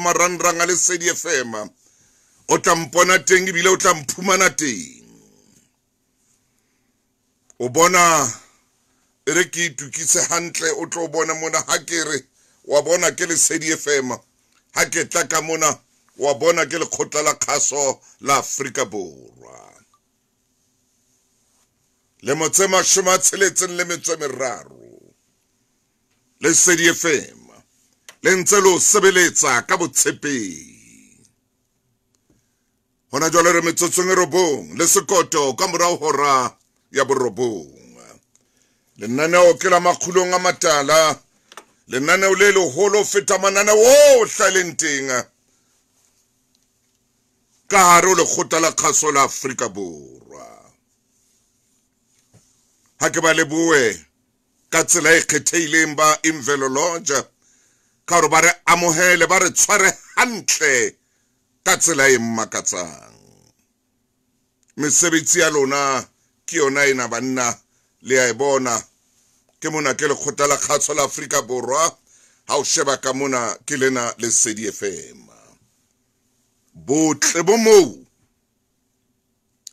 marangrang a Lesedi FM. O tla mpona teng ebile o tla mphumana teng. O bona e re ke itukise hantle, o tlo bona mona ha ke re wa bona ke Lesedi FM. Ha ke tla ka mona wa bona ke lekgotla la kgaso la Afrika Borwa. Lemo tse 63. Lesedi FM le ntse lo sebeletsa ka botshepehi. Hona jwale re metsotsong e 9 le sekoto ka morao hora ya 9. Lenaneo ke la Makgulong a Matala, lenaneo le leholo feta mananeo ohle a leng teng ka hare ho lekgotla la kgaso la Afrika Borwa. Ha ke ba lebohe ka tsela e kgethehileng ba Imvelo Lodge ka hore ba re amohele, ba re tshware hantle ka tsela e makatsang. Mesebetsi ya lona ke yona ena banna, le a e bona. Ke mona ke lekgotla la kgaso la Afrika Borwa. Ha o sheba ka mona ke lena Lesedi FM. Botle bo moo,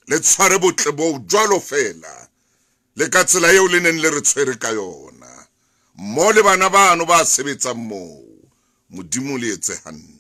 le tshware botle bo jwalo fela le ka tsela eo le neng le re tshwere ka yona. Mo le bana bano ba sebetsang moo, Modimo le etse hantle.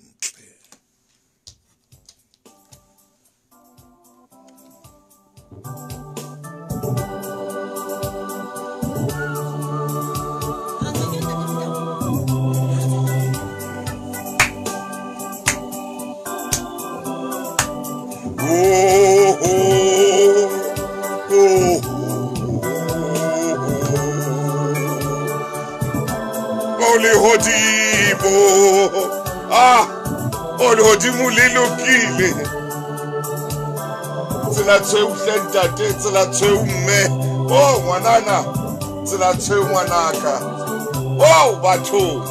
Ah, o lehodimo le lokile. Tsela tshweu hle ntate, tsela tshweu mme. Oh ngwanana, tsela tshweu ngwanaka. Oh batho.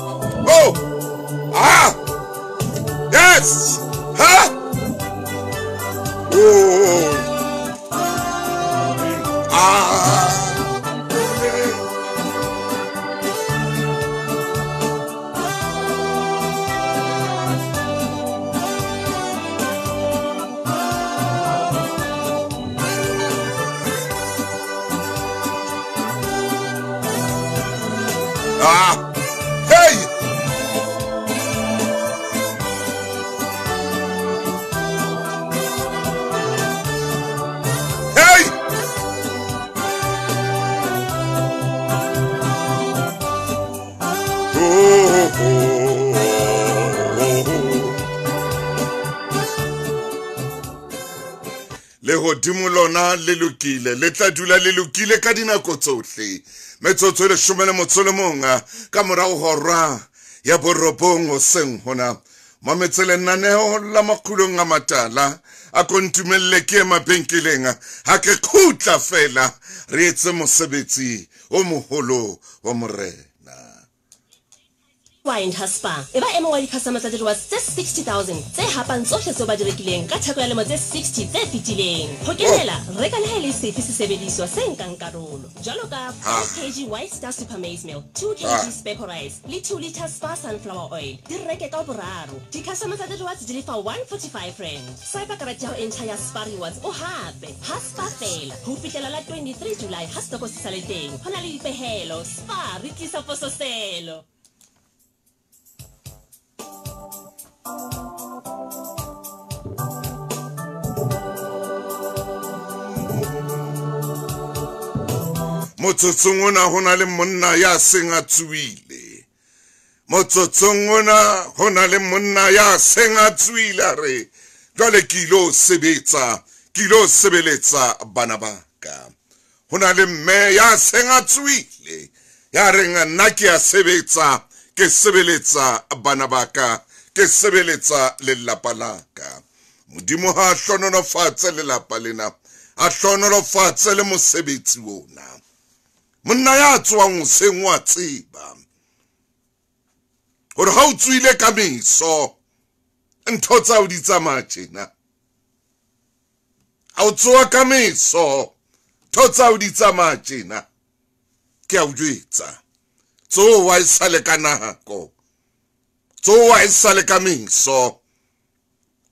Oh. Ah. Yes. Ha. Oh. Ah. Ah, hey! Hey! Oh, oh, oh, oh. Lehodimo lona le lokile, le tla dula le lokile ka dinako tsohle. Metsotso e 11 ka morao hora ya 9 hoseng hona. Mametse lenaneo la Makgulong a Matala a kontumelle ke mabenkeleng. Ha ke khutla fela re etse mosebetsi o moholo wa Morena. Wine ha Spa e ba e mong wa di-customer tsa di-rewards tse 60,000 tse hapang tsohle tseo ba di rekileng ka theko ya lemo tse 60 tse fetileng. Ho kenela, reka le ha e le sefe sesebediswa se nkang karolo jwalo ka 5 kg White Star Super Maize Meal, 2 kg Speco Rice le 2 liter Spa Sunflower Oil. Di reke ka boraro. Di-customer tsa di-rewards di lefa 145 rand. Swipe karete ya ho entšha ya Spa Rewards o hape ha Spa fela ho fihlela la 23 July ha stoko se sa le teng. Ho na le dipehelo. Spa re tlisa pososelo. Motsotsong ona ho na le monna ya seng a tsohile. Motsotsong ona ho na le monna ya seng a tsohile, a re jwale ke ilo sebetsa, ke ilo sebeletsa bana ba ka. Ho na le mme ya seng a tsohile, ya reng nna ke a sebetsa, ke sebeletsa bana ba ka, ke sebeletsa lelapa la ka. Modimo ha hlohonolofatse lelapa lena, a hlohonolofatse le mosebetsi ona. Monna ya tswang hoseng wa tseba hore ha o tswile ka meso ntho tsa o di tsamaya tjena. Ha o tsoha ka meso ntho tsa o di tsamaya tjena. Ke a o jwetsa, tsoha e sale ka nako. Tsoha e sale ka meso.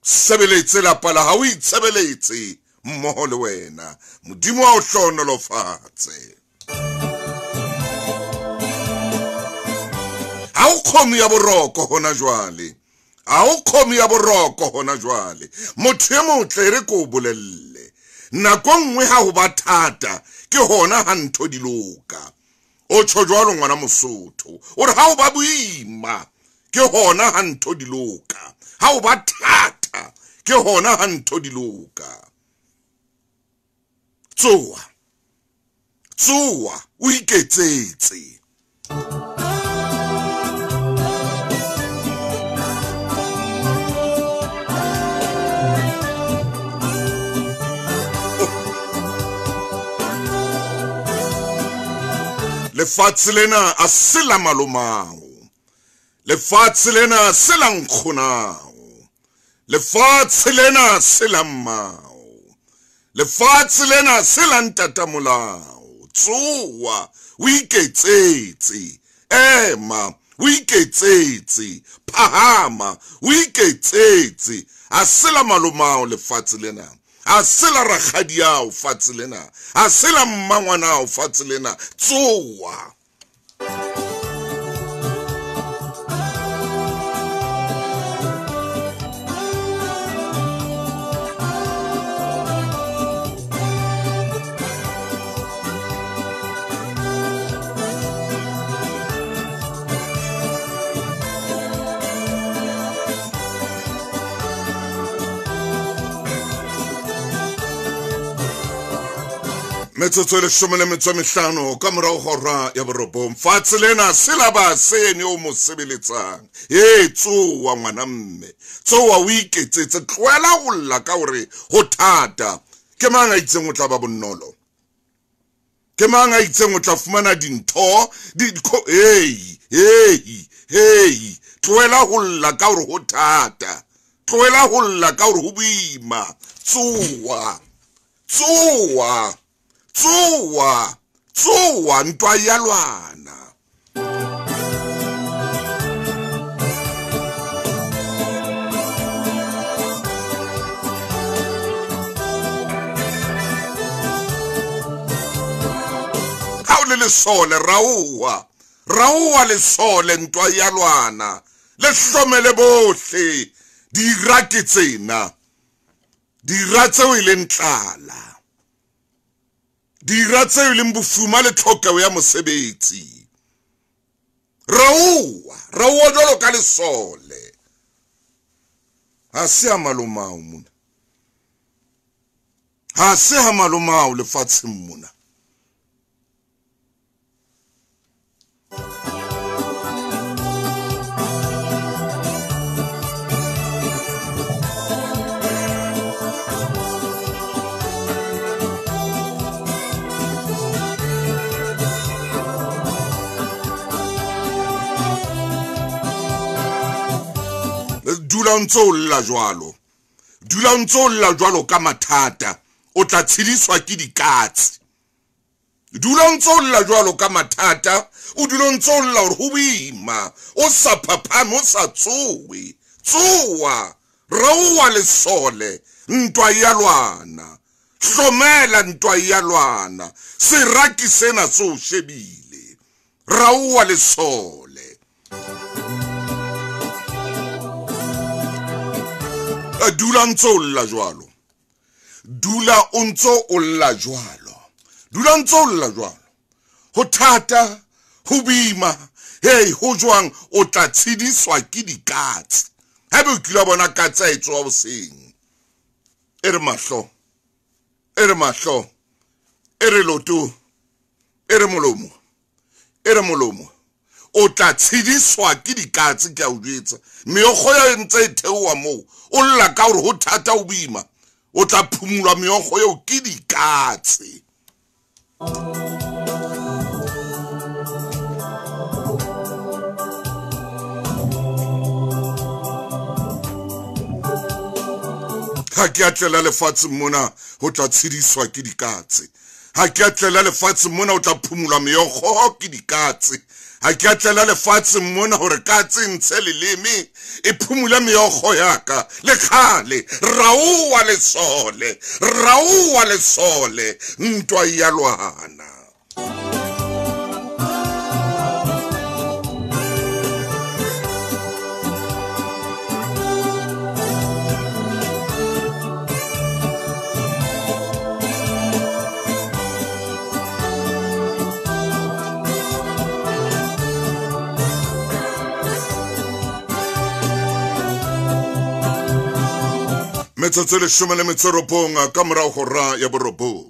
Sebeletse lapa la hao, o itshebeletse mmoho le wena. Modimo a o hlohonolofatse. Ha o kgomo ya boroko hona jwale. Ha o kgomo ya boroko hona jwale. Motho e motle re ko bolelle. Nako nngwe ha ho ba thata ke hona ha ntho di loka. O tjho jwalo ngwana Mosotho. O re ha o ba boima ke hona ha ntho di loka. Ha o ba thata ke hona ha ntho di loka. Tsoha. Tsoha o iketsetse. Lefatshe lena a se la malomao. Lefatshe lena se la nkgonao. Lefatshe lena se la mmao. Lefatshe lena se la ntatamolao. Tsoha o iketsetse. Ema o iketsetse. Phahama o iketsetse. A se la malomao lefatshe lena. A se la rakgadiao fatshe lena. A se la mmangwanao fatshe lena. Tsoha. Metsotso e 15 ka morao hora ya borobong. Fatshe lena se la ba sene o mo sebeletsang. E tsoha ngwana mme. Tsoha o iketsetse. Tlohela ho lla ka hore ho thata. Ke mang a itseng o tla ba bonolo? Ke mang a itseng o tla fumana dintho? Hey, hey, hey. Tlohela ho lla ka hore ho thata. Tlohela ho lla ka hore ho boima. Tsoha. Tsoha. Tsoha, tsoha ntwa ya lwana. Ha o le lesole raoa, raoa lesole ntwa ya lwana. Le hlomele bohle dira ke tsena. Dira tseo e leng tlala. Dira tseo e leng bofuma le tlhokeho ya mosebetsi. Raoa, raoa jwalo ka lesole. Ha se ha malomao mona. Ha se ha malomao lefatsheng mona. Dula ntse o lla jwalo. Dula ntse o lla jwalo ka mathata. O tla tshediswa ke dikatse. Dula ntse o lla jwalo ka mathata. O dula ntse o lla hore ho boima. O sa phaphame, o sa tsowe. Tsoha. Raoa lesole. Ntwa ya lwana. Hlomela ntwa ya lwana. Seraki sena se o shebile. Raoa lesole. Dula ntse o lla jwalo. Dula o ntse o lla jwalo. Dula ntse o lla jwalo. Ho thata, ho boima, hey, ho jwang o tla tshediswa ke dikatse. Haebe o kile wa bona katse a e tsoha hoseng. E re mahlo. E re mahlo. E re loto. E re molomo. E re molomo. O tla tshediswa ke dikatse ke a o jwetsa. Meokgo ya ntse e theoha moo. O lla ka hore ho thata ho boima. O tla phumulwa meokgo eo ke dikatse. Ha ke a tlela lefatsheng mona ho tla tshediswa ke dikatse. Ha ke a tlela lefatsheng mona o tla phumulwa meokgo ke dikatse. Ha ke a tlela lefatsheng mona hore katse ntshe leleme e phumula meokgo ya ka. Le kgale raowa lesole, raowa lesole, ntwa ya lwana. Metsotso 19 ka morao hora ya 9.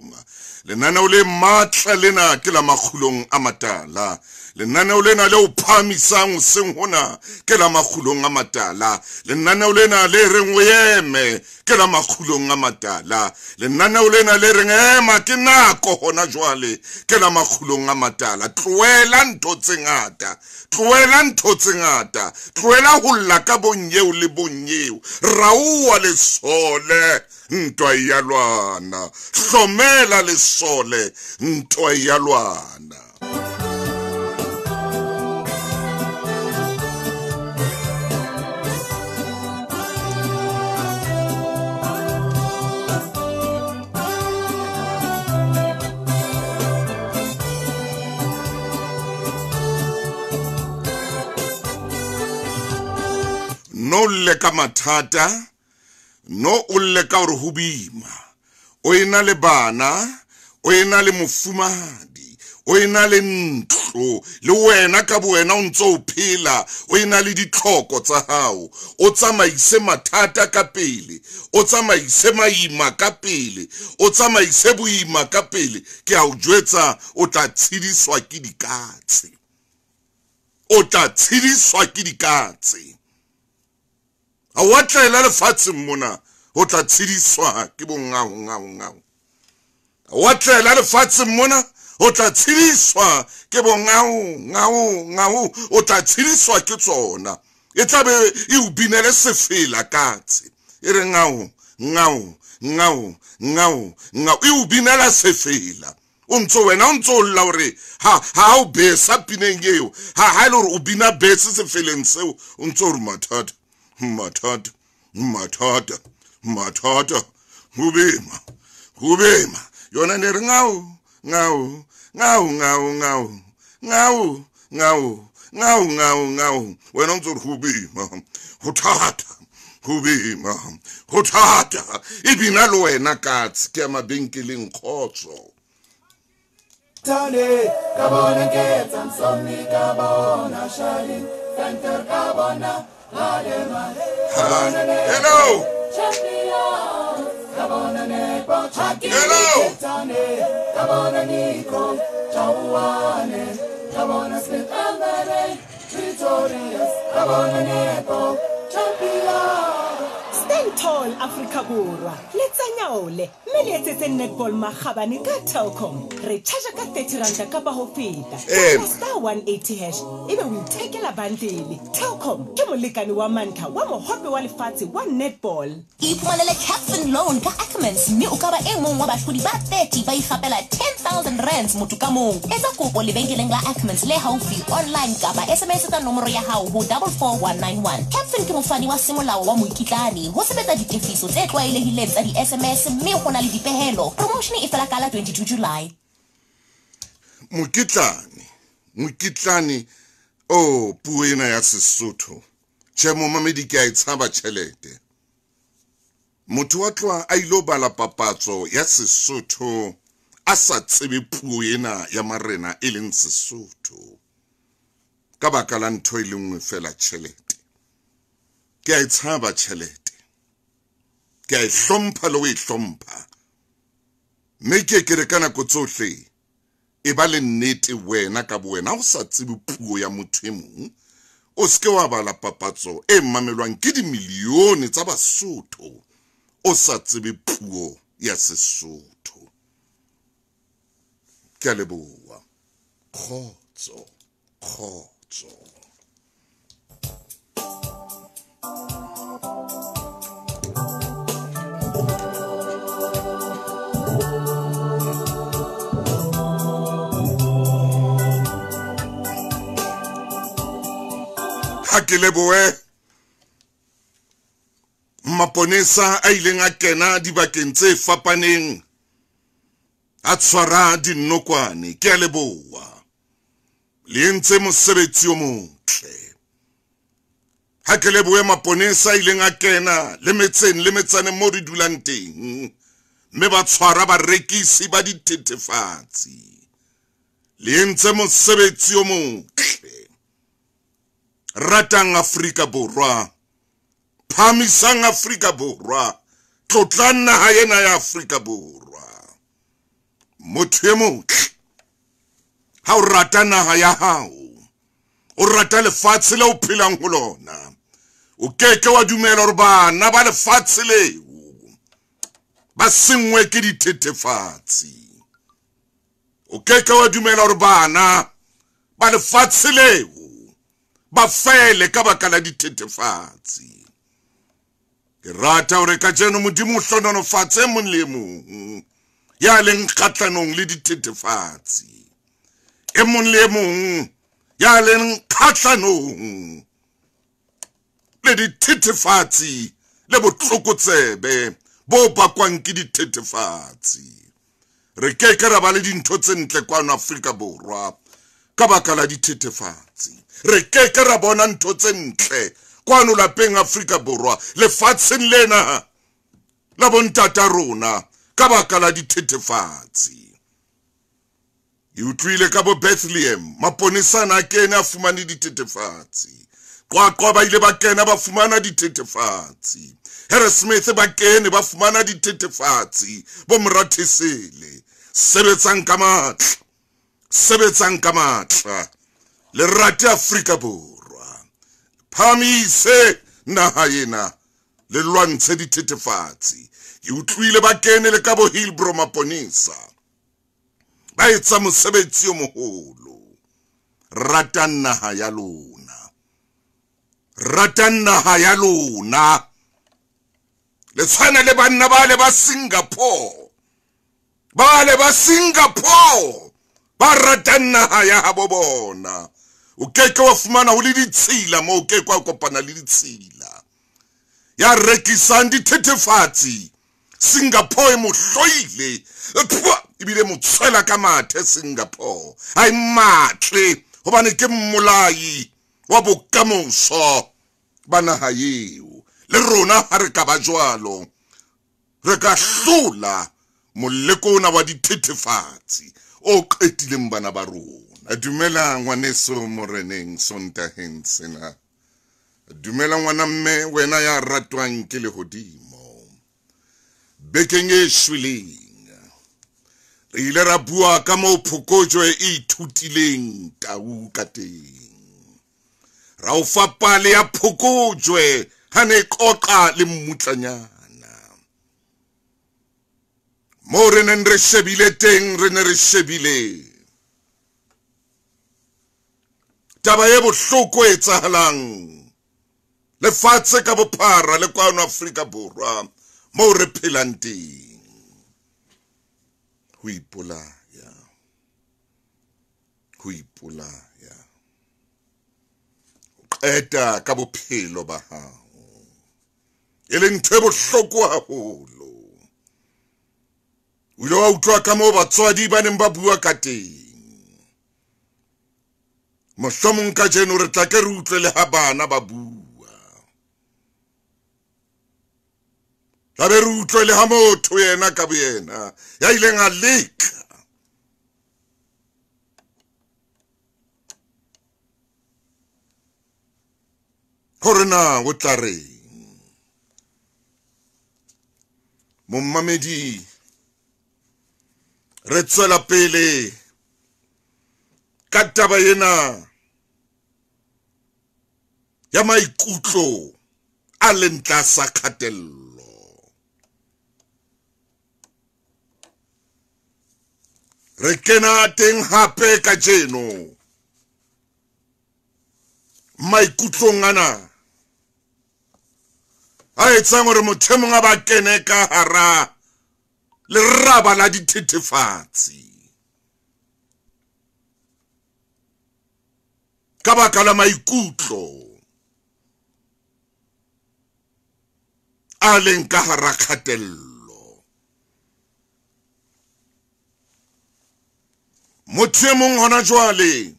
Lenaneo le matla lena ke la makgulong a matala. Lenaneo lena le o phahamisang hoseng hona ke la makgulong a matala. Lenaneo lena le reng o eme ke la makgulong a matala. Lenaneo lena le reng ema ke nako hona jwale ke la makgulong a matala. Tlohela ntho tse ngata, tlohela ntho tse ngata, tlohela ho lla ka bonyeo le bonyeo. Raowa lesole, ntwa ya lwana. Hlomela lesole, ntwa ya lwana. No lle ka mathata, no o lle ka hore ho boima. O ena le bana, o ena le mofumahadi, o ena le ntlo, le wena ka bowena o ntso o phela, o ena le ditlhoko tsa hao. O tsamaise mathata ka pele, o tsamaise maima ka pele, o tsamaise boima ka pele. Ke a o jwetsa, o tla tshediswa ke dikatse. O tla tshediswa ke dikatse. A wa tlela lefatsheng mona ho tla tshediswa ke bongao ngao ngao. A wa tlela lefatsheng mona ho tla tshediswa ke bongao ngao ngao. O tla tshediswa ke tsona. E tla be e o binele sefela katse. E re ngao ngao ngao ngao ngao. E o binela sefela. O ntso wena o ntso lla hore ha o besa pineng eo. Ha e le hore o bina bese sefeleng seo, o ntso re mathata. Mathata, mathata, mathata, ho boima, ho boima. Yona ne re ngao, ngao, ngao, ngao, ngao, ngao, ngao, ngao, ngao, ngao. Wena o ntso re ho boima, ho thata, ho boima, ho thata. E bina le wena katse ke ya mabenkeleng kgotso. Tane, ka bona ke tsamsoni, ka bona shali, center ka bona. Hello. Hello. Stand tall, Afrika Borwa. Le tsanyaole, mme le etsetse netball makgabane ka Telkom. Re charge ka 30 rand kapa ho feta. Star 180 hash ebe o ithekela bundle. Telkom ke molekane wa mantlha wa mohope wa lefatshe wa netball. Iphumanele Captain Loan ka Ackermans mme o ka ba e mong wa bahlodi ba 30 ba ikgapela 10,000 rands motho ka mong. Etsa kopo lebenkeleng la Ackermans le haufi online kapa SMS ka nomoro ya hao ho 44191. Captain ke mofani wa semolao wa moikitlane. Ho sebetsa ditefiso tse tlwaelehileng tsa di-SMS mme ho na le dipehelo. Promotion e fela ka la 22 July. Mokitlane, oh, puo ena ya Sesotho. Tjhe, momamedi, ke a e tshaba tjhelete. Motho wa tloha a ilo bala papatso ya Sesotho a sa tsebe puo ena ya marena e leng Sesotho. Ka baka la ntho e le nngwe fela, tjhelete. Ke a e tshaba tjhelete. Ke a e hlompha le ho e hlompha. Mme ke re ka nako tsohle e ba le nnete wena ka bowena, o sa tsebe puo ya motho e mong, o seke wa bala papatso e mamelwang ke dimilione tsa Basotho o sa tsebe puo ya Sesotho. Ke a leboha. Kgotso, kgotso. Ha ke lebohe maponesa a ileng a kena dibakeng tse fapaneng a tshwara dinokwane. Ke a leboha, le entse mosebetsi o motle. Ha ke lebohe maponesa a ileng a kena le metseng le metsaneng mo re dulang teng, mme ba tshwara barekisi ba dithethefatsi. Le entse mosebetsi o motle. Ratang Afrika Borwa, phahamisang Afrika Borwa, tlotlang naha ena ya Afrika Borwa. Motho e motle, ha o rata naha ya hao, o rata lefatshe le o phelang ho lona, o keke wa dumela hore bana ba lefatshe leo ba senngwe ke dithethefatsi. O keke wa dumela hore bana ba lefatshe leo ba fele ka baka la dithethefatsi. Ke rata hore kajeno Modimo o hlohonolofatse mong le mong ya leng kgahlanong le dithethefatsi, e mong le mong ya leng kgahlanong le dithethefatsi le botlokotsebe bo bakwang ke dithethefatsi. Re ke ke ra ba le dintho tse ntle kwano Afrika Borwa ka baka la dithethefatsi. Re ke ke ra bona ntho tse ntle kwano lapeng Afrika Borwa, lefatsheng lena la bontata rona ka baka la dithethefatsi. E utlwile ka bo Bethlehem, maponesa a kene a fumane dithethefatsi. Qwaqwa ba ile ba kena ba fumana dithethefatsi. Harrismith ba kene ba fumana dithethefatsi. Bo Morathesele, sebetsang ka matla, sebetsang ka matla. Le rate Afrika Borwa, phahamise naha ena, le lwantshe dithethefatsi. Ke utlwile ba kene le ka bo Hillbrow maponesa, ba etsa mosebetsi o moholo. Ratang naha ya lona, ratang naha ya lona. Le tshwana le banna ba le ba Singapore, ba le ba Singapore ba ratang naha ya habo bona. O keke wa fumana ho le ditshila moo, o keke wa kopana le ditshila. Ya rekisang dithethefatsi Singapore e mo hloile, ebile mo tshwela ka mathe Singapore. Ha e matle hobane ke mmolai wa bokamoso ba naha eo. Le rona ha re ka ba jwalo, re ka hlola moleko ona wa dithethefatsi o qetileng bana ba rona. Dumela ngwaneso moreneng Sontaheng sena. Dumela ngwana mme wena ya ratwang ke lehodimo. Bekeng e shweleng re ile ra bua ka moo phokojwe e ithutileng tau ka teng. Ra o fa pale ya phokojwe ha ne qoqa le mmutlanyana. Moo re neng re shebile teng, re ne re shebile taba e bohloko e etsahalang lefatshe ka bophara le kwano Afrika Borwa moo re phelang teng. Ho ipolaya, ho ipolaya, o qeta ka bophelo ba hao, e leng ntho e bohloko haholo. O ile wa utlwa ka moo batswadi ba neng ba bua ka teng. Mohlomong kajeno re tla ke re utlwe le ha bana ba bua, tla be re utlwe le ha motho yena ka boyena ya ileng a leka hore na o tla reng. Momamedi, re tswela pele ka taba ena ya maikutlo a leng tlasa kgatello. Re kena teng hape kajeno maikutlong ana a etsang hore motho e mong a ba kene ka hara leraba la dithethefatsi ka baka la maikutlo. a leng ka hara kgatello. Motho e mong hona jwale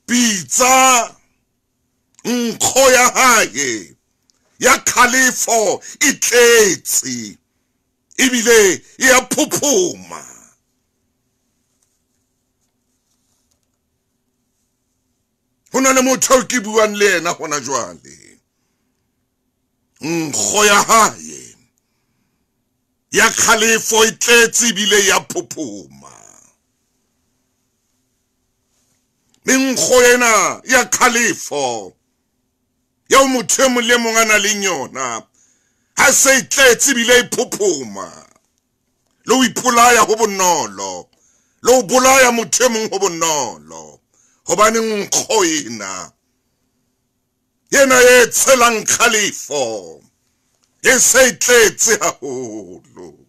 pitsa nkgo ya hae ya kgalefo e tletse ebile e a phophoma. Ho na le motho eo ke buang le yena hona jwale, nkgo ya hae ya kgalefo e tletse ebile ya phophoma. Menkgo ena ya kgalefo eo motho e mong le mong a nang le yona ha se e tletse ebile e phophoma, le ho ipolaya ho bonolo, le ho bolaya motho e mong ho bonolo, hobane nkgo ena yena e tshelang kgalefo e se e tletse haholo.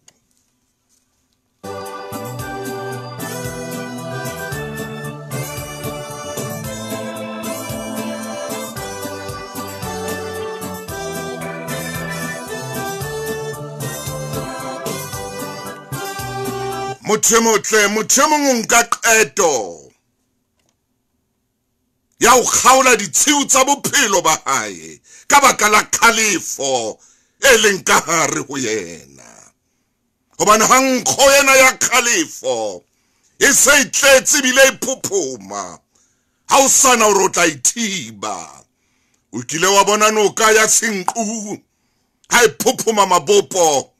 Motho e motle, motho e mong o nka qeto ya ho kgaola ditshiu tsa bophelo ba hae ka baka la kgalefo e leng ka hare ho yena. Hobane ha nkgo ena ya kgalefo e se e tletse ebile e phophoma, ha o sana hore o tla ithiba. O kile wa bona noka ya Senqu ha e phophoma mabopo,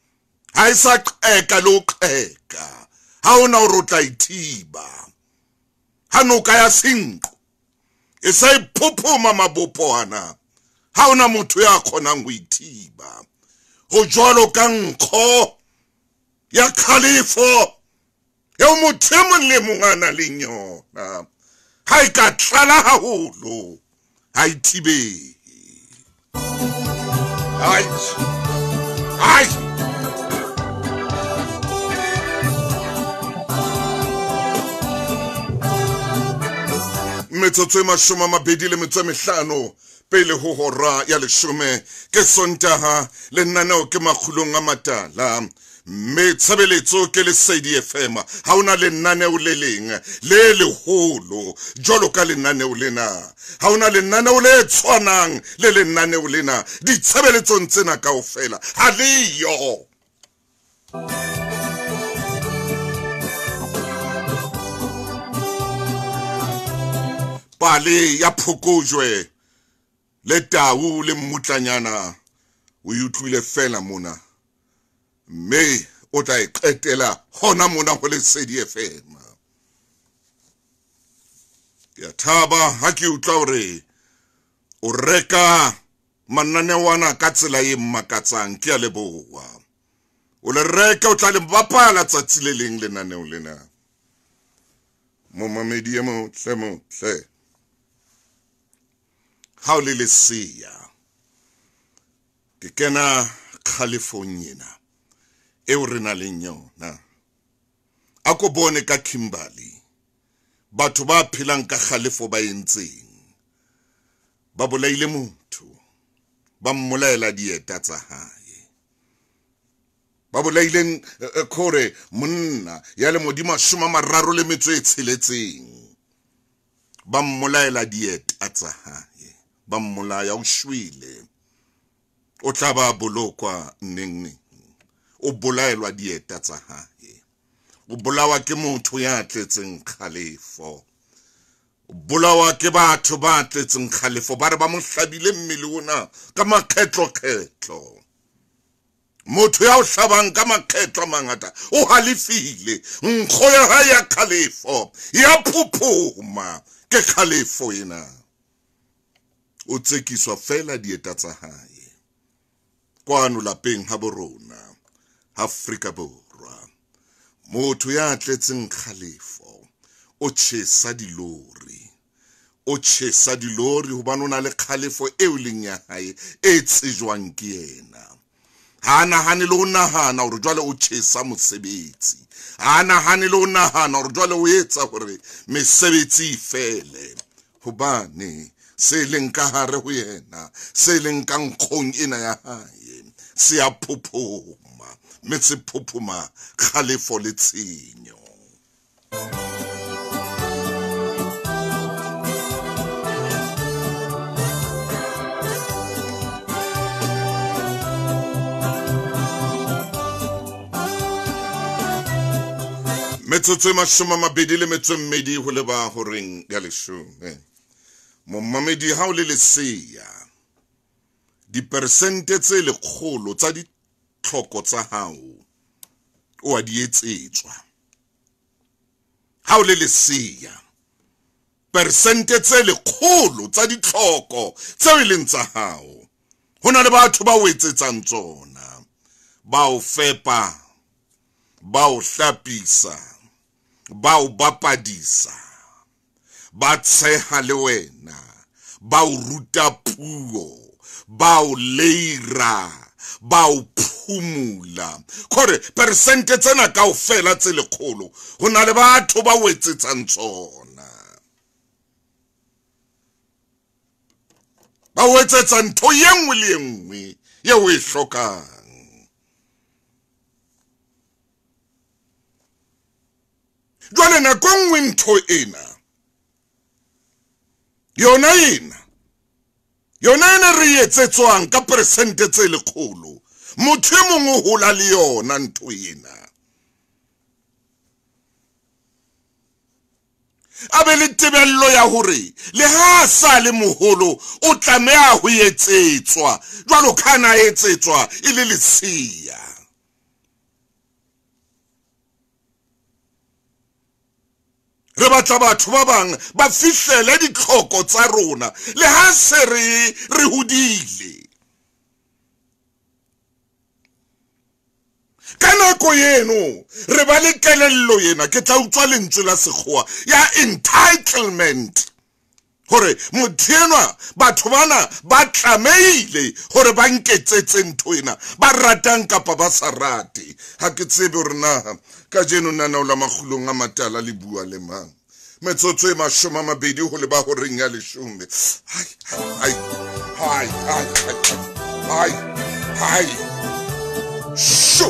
ha e sa qeka le ho qeka, ha ona hore o tla ithiba. Ha noka ya Senqu e sa e phophoma mabopo ana, ha ona motho ya kgonang ho ithiba. Ho jwalo ka nkgo ya kgalefo eo motho e mong le mong a nang le yona, ha e ka tlala haholo ha e thibehe. Ai ai metsotso e 25 pele ho hora ya 10 ke Sontaha, lenaneo ke Makgulong a Matala, mme tshebeletso ke Lesedi FM. Ha hona lenaneo le leng le leholo jwalo ka lenaneo lena, ha hona lenaneo le tshwanang le lenaneo lena ditshebeletsong tsena kaofela ha leyo. Pale ya phokojwe le tau le mmutlanyana o e utlwile fela mona, mme o tla e qetela hona mona ho Lesedi FM. Ke a thaba ha ke utlwa hore o reka mananeo ana ka tsela e mmakatsang. Ke a leboha. O le reka, o tla le bapala tsatsi le leng lenaneo lena. Momamedi e motle motle, ha o le lesea, ke kena kgalefong ena eo re nang le yona. A ko bone ka Kimberley batho ba phelang ka kgalefo ba entseng, ba bolaile motho, ba mmolaela dieta tsa hae, ba bolaile khore monna ya le modimo 36, ba mmolaela dieta tsa hae, ba mmolaya, o shwele, o tla ba bolokwa neng neng. O bolaelwa dieta tsa hae, o bolawa ke motho ya tletseng kgalefo, o bolawa ke batho ba tletseng kgalefo, ba re ba mo hlabile mmele ona ka makgetlokgetlo. Motho ya o hlabang ka makgetlo a mangata o halefile, nkgo ya hae ya kgalefo ya phophoma. Ke kgalefo ena, o tsekiswa fela dieta tsa hae kwano lapeng ha borona Afrika Borwa. Motho ya tletseng kgalefo o tjhesa dilori, o tjhesa dilori hobane o na le kgalefo eo leng ya hae e tsejwang ke yena. Ha nahane le ho nahana hore jwale o tjhesa mosebetsi, ha nahane le ho nahana hore jwale o etsa hore mesebetsi e fele, hobane Se leng ka hare ho yena, se leng ka nkgong ena ya hae, se a phophoma, mme se phophoma kgalefo le tshenyo. Metsotso e 22 ho leba horeng ya 10. Momamedi, ha o le lesea, dipersente tse 100 tsa ditlhoko tsa hao o a di etsetswa. Ha o le lesea, persente tse 100 tsa ditlhoko tseo e leng tsa hao, ho na le batho ba o etsetsang tsona, ba o fepa, ba o hlapisa, ba o bapadisa, ba tsheha le wena, ba o ruta puo, ba o leira, ba o phumula. Kore persente tsena kaofela tse 100 ho na le batho ba o etsetsang tsona, ba o etsetsa ntho ye nngwe le ye nngwe eo o e hlokang. Jwale nako nngwe ntho ena yona ena re etsetswang ka persente tse 100, motho e mongwe o hola le yona ntho ena, a be le tebello ya hore le ha sa le moholo o tlameha ho etsetswa jwalo ka na etsetswa e le lesea. Re batla batho ba bang ba fihlele ditlhoko tsa rona le ha se re hodile. Ka nako eno re ba le kelello ena, ke tla utswa lentswe la sekgowa ya entitlement, hore motho enwa, batho bana ba tlamehile hore ba nketsetse ntho ena, ba ratang kapa ba sa rate. Ha ke tsebe hore na kajeno nanao la Makgulong a Matala le bua le mang. Metsotso e 20 ho leba horeng ya 10. Hai hai hai hai hai hai. Sho.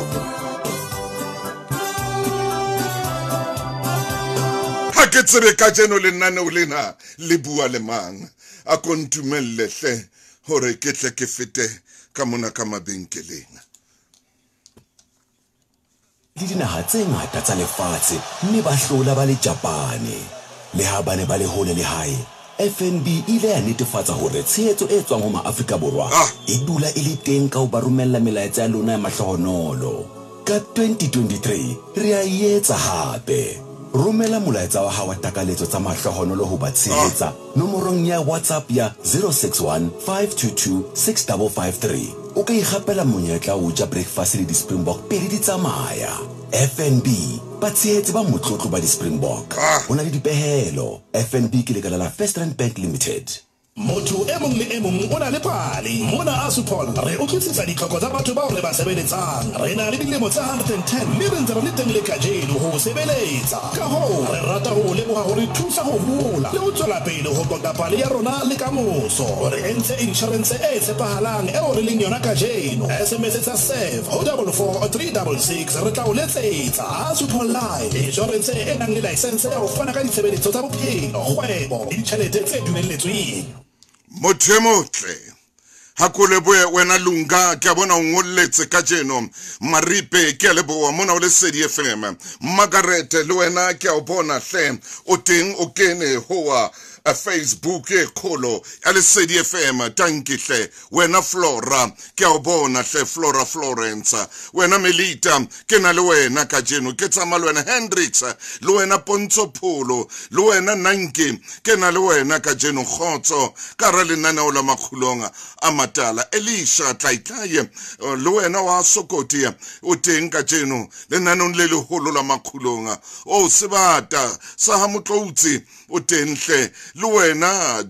Ha ke tsebe kajeno lenaneo lena le bua le mang. A ko ntumelle hle hore ke tle ke fete ka mona ka mabenkeleng. Le dinaha tse ngata tsa lefatshe mme ba hlola ba le Japane. Le ha ba ne ba le hole le hae, FNB ile ya netefatsa hore tshehetso e tswang ho maAfrika Borwa e dula e le teng ka ho ba romella melaetsa ya lona ya mahlohonolo. Ka 2023 re a etsa hape. Romela molaetsa wa hao wa takaletso tsa mahlohonolo ho ba tshehetsa nomorong ya WhatsApp ya 061 522 6553. O ka ikgapela monyetla o ja breakfast le di-Springbok pele di tsamaya. FNB, batshehetsi ba motlotlo ba di-Springbok. Ho na le dipehelo. FNB ke lekala la First Rand Bank Limited. Motho e mong le e mong o na le pale. Mona Assupol re utlwisisa ditlhoko tsa batho bao re ba sebeletsang. Re na le dilemo tse 110 mme re ntse re le teng le kajeno ho sebeletsa. Ka hoo re rata ho leboha hore thusa ho hola le ho tswela pele ho qoqa pale ya rona le kamoso. Re entse insurance e tshepahalang eo re leng yona kajeno. SMS tsa SAVE ho 44366 re tla o letsetsa. Assupol Life, insurance e nang le license ya ho fana ka ditshebeletso tsa bophelo, kgwebo le ditjhelete tse dumelletsweng. Motho e motle, ha ko lebohe wena Lunga, ke a bona o ngolletse kajeno. Maripe, ke a leboha mona o Lesedi FM. Margaret le wena ke a o bona hle, o teng o kene hoa Facebook e kholo ya Lesedi FM. Tanki hle wena Flora, ke a o bona hle Flora Florence. Wena Melita, ke na le wena kajeno, ke tsamaya le wena Hendrix, le wena Pontsho Pholo, le wena Nanki, ke na le wena kajeno. Kgotso ka ra lenaneo la Makgulong a Matala. Elisha Tlaitlaye, le wena wa Sokoti, o teng kajeno lenaneong le leholo la Makgulong. O Sebata sa ha Motloutse, o teng hle Le wena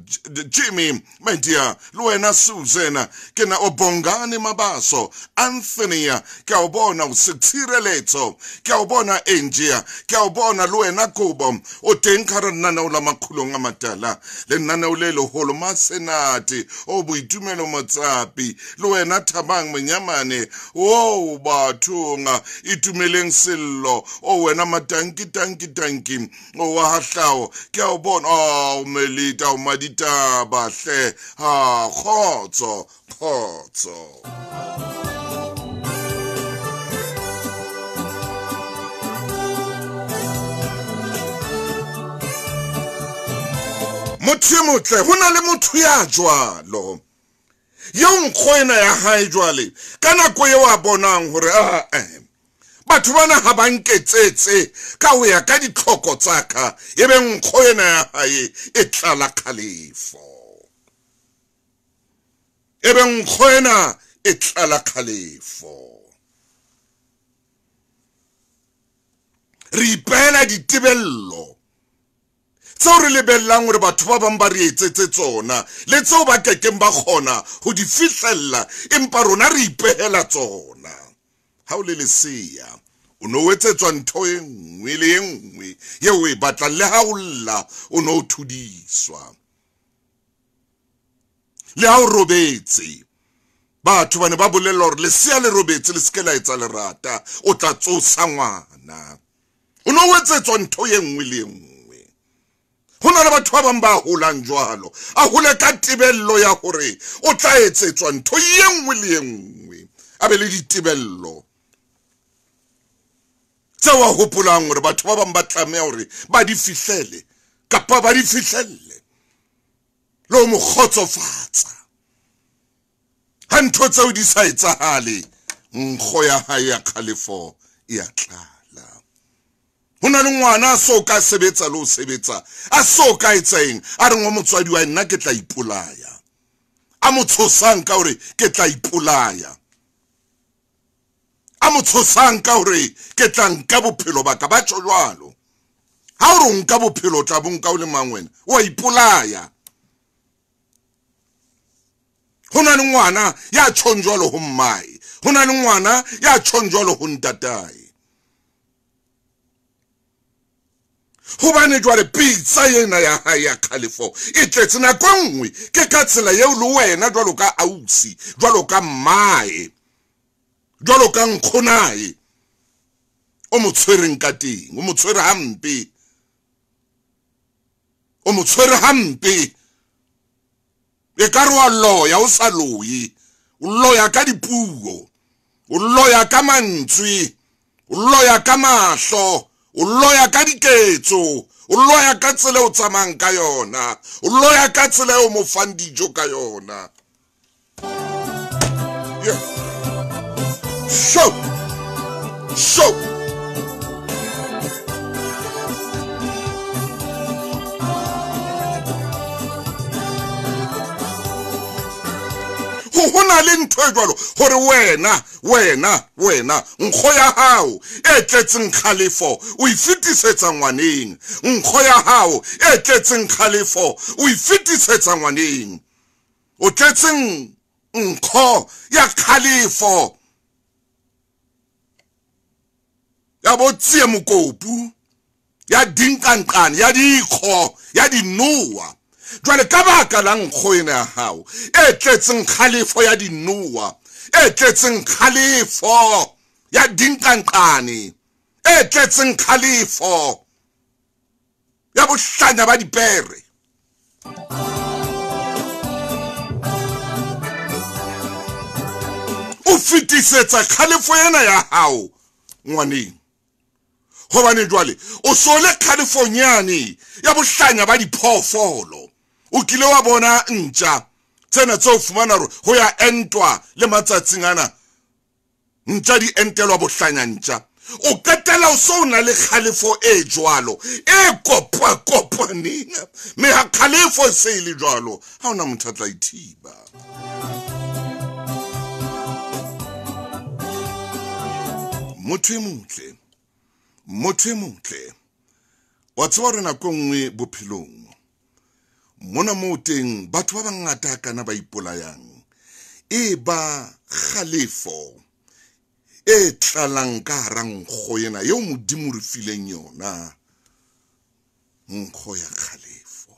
Jimmy, my dear, le wena Susan, ke na o Bongani Mabaso, Anthony, ke a o bona o Setshireletso, ke a o bona Angie, ke a o bona le wena Kobo, o teng ka hara lenaneo la Makgulong a Matala, lenaneo le leholo Masenate, o Boitumelo Motsapi, le wena Thabang Monyamane, o bathong itumeleng sello, o wena Matanki tanki tanki, o wa hahlao, ke a o bona, o Melita, o Maditaba hle, ha khotso khotso. Motho e motle, ho na le motho ya jwalo eo nkgo ena ya hae jwale ka nako eo a bonang hore batho bana ha ba nketsetse ka ho ya ka ditlhoko tsa ka, ebe nkgo ena ya hae e tlala kgalefo, ebe nkgo ena e tlala kgalefo. Re ipehela ditebello tseo re lebellang hore batho ba bang ba re etsetse tsona le tseo ba kekeng ba kgona ho di fihlella, empa rona re ipehela tsona. Ha o le lesea, o no etsetswa ntho e nngwe le e nngwe eo o e batlang, le ha o lla o no thudiswa, le ha o robetse batho ba ne ba bolella hore lesea le robetse le se ke la etsa lerata, o tla tsosa ngwana. O no etsetswa ntho e nngwe le e nngwe. Ho na le batho ba bang ba holang jwalo, a hole ka tebello ya hore o tla etsetswa ntho e nngwe le e nngwe, a be le ditebello tseo a hopolang hore batho ba bang ba tlameha hore ba di fihlele kapa ba di fihlelle le ho mo kgotsofatsa. Ha ntho tseo di sa etsahale, nkgo ya hae ya kgalefo e a tlala. Ho na le ngwana a so ka sebetsa le ho sebetsa, a so ka etsa eng, a reng wa motswadi wa nna ke tla ipolaya, a mo tshosang ka hore ke tla ipolaya, a mo tshosang ka hore ke tla nka bophelo ba ka. Ba tjho jwalo. Ha o re o nka bophelo, o tla bo nka o le mang wena? O a ipolaya. Ho na le ngwana ya tjhong jwalo ho mmae, ho na le ngwana ya tjhong jwalo ho ntatae. Hobane jwale pitsa ena ya hae ya kgalefo e tletse nako e nngwe, ke ka tsela eo le wena jwalo ka ausi, jwalo ka mmae, jwalo ka nkgonae, o mo tshwereng ka teng, o mo tshwere hampe, o mo tshwere hampe. E ka re wa loya, o sa loye, o loya ka dipuo, o loya ka mantswe, o loya ka mahlo, o loya ka diketso, o loya ka tsela o tsamayang ka yona, o loya ka tsela eo mo fang dijo ka yona. Yeah. Show. Show. Ho na le ntho e jwalo hore wena wena wena nkgo ya hao e tletseng kgalefo o e fetisetsa ngwaneng, nkgo ya hao e tletseng kgalefo o e fetisetsa ngwaneng, o tletseng nkgo ya kgalefo ya bo tsie mokopu, ya dinkanqane, ya dikgo, ya dinoa. Jwale ka baka la nkgo ena ya hao e tletseng kgalefo ya dinoa, e tletseng kgalefo ya dinkanqane, e tletseng kgalefo ya bohlanya ba dipere, o fetisetsa kgalefo ena ya hao ngwaneng. Hobane jwale o so le kgalefong yane ya bohlanya ba diphoofolo. O kile wa bona ntja tsena tseo fumana hore ho ya entwa le matsatsing ana, ntja di entelwa bohlanya ntja. O qetela o so na le kgalefo e jwalo e kopa-kopaneng, mme ha kgalefo e se e le jwalo, ha hona motho a tla ithiba. Motho e motle, motho e motle, wa tseba hore nako e nngwe bophelong Mona moo teng batho ba bangata kana ba ipolayang e ba kgalefo e tlalang ka hara nkgo ena eo Modimo re fileng yona, nkgo ya kgalefo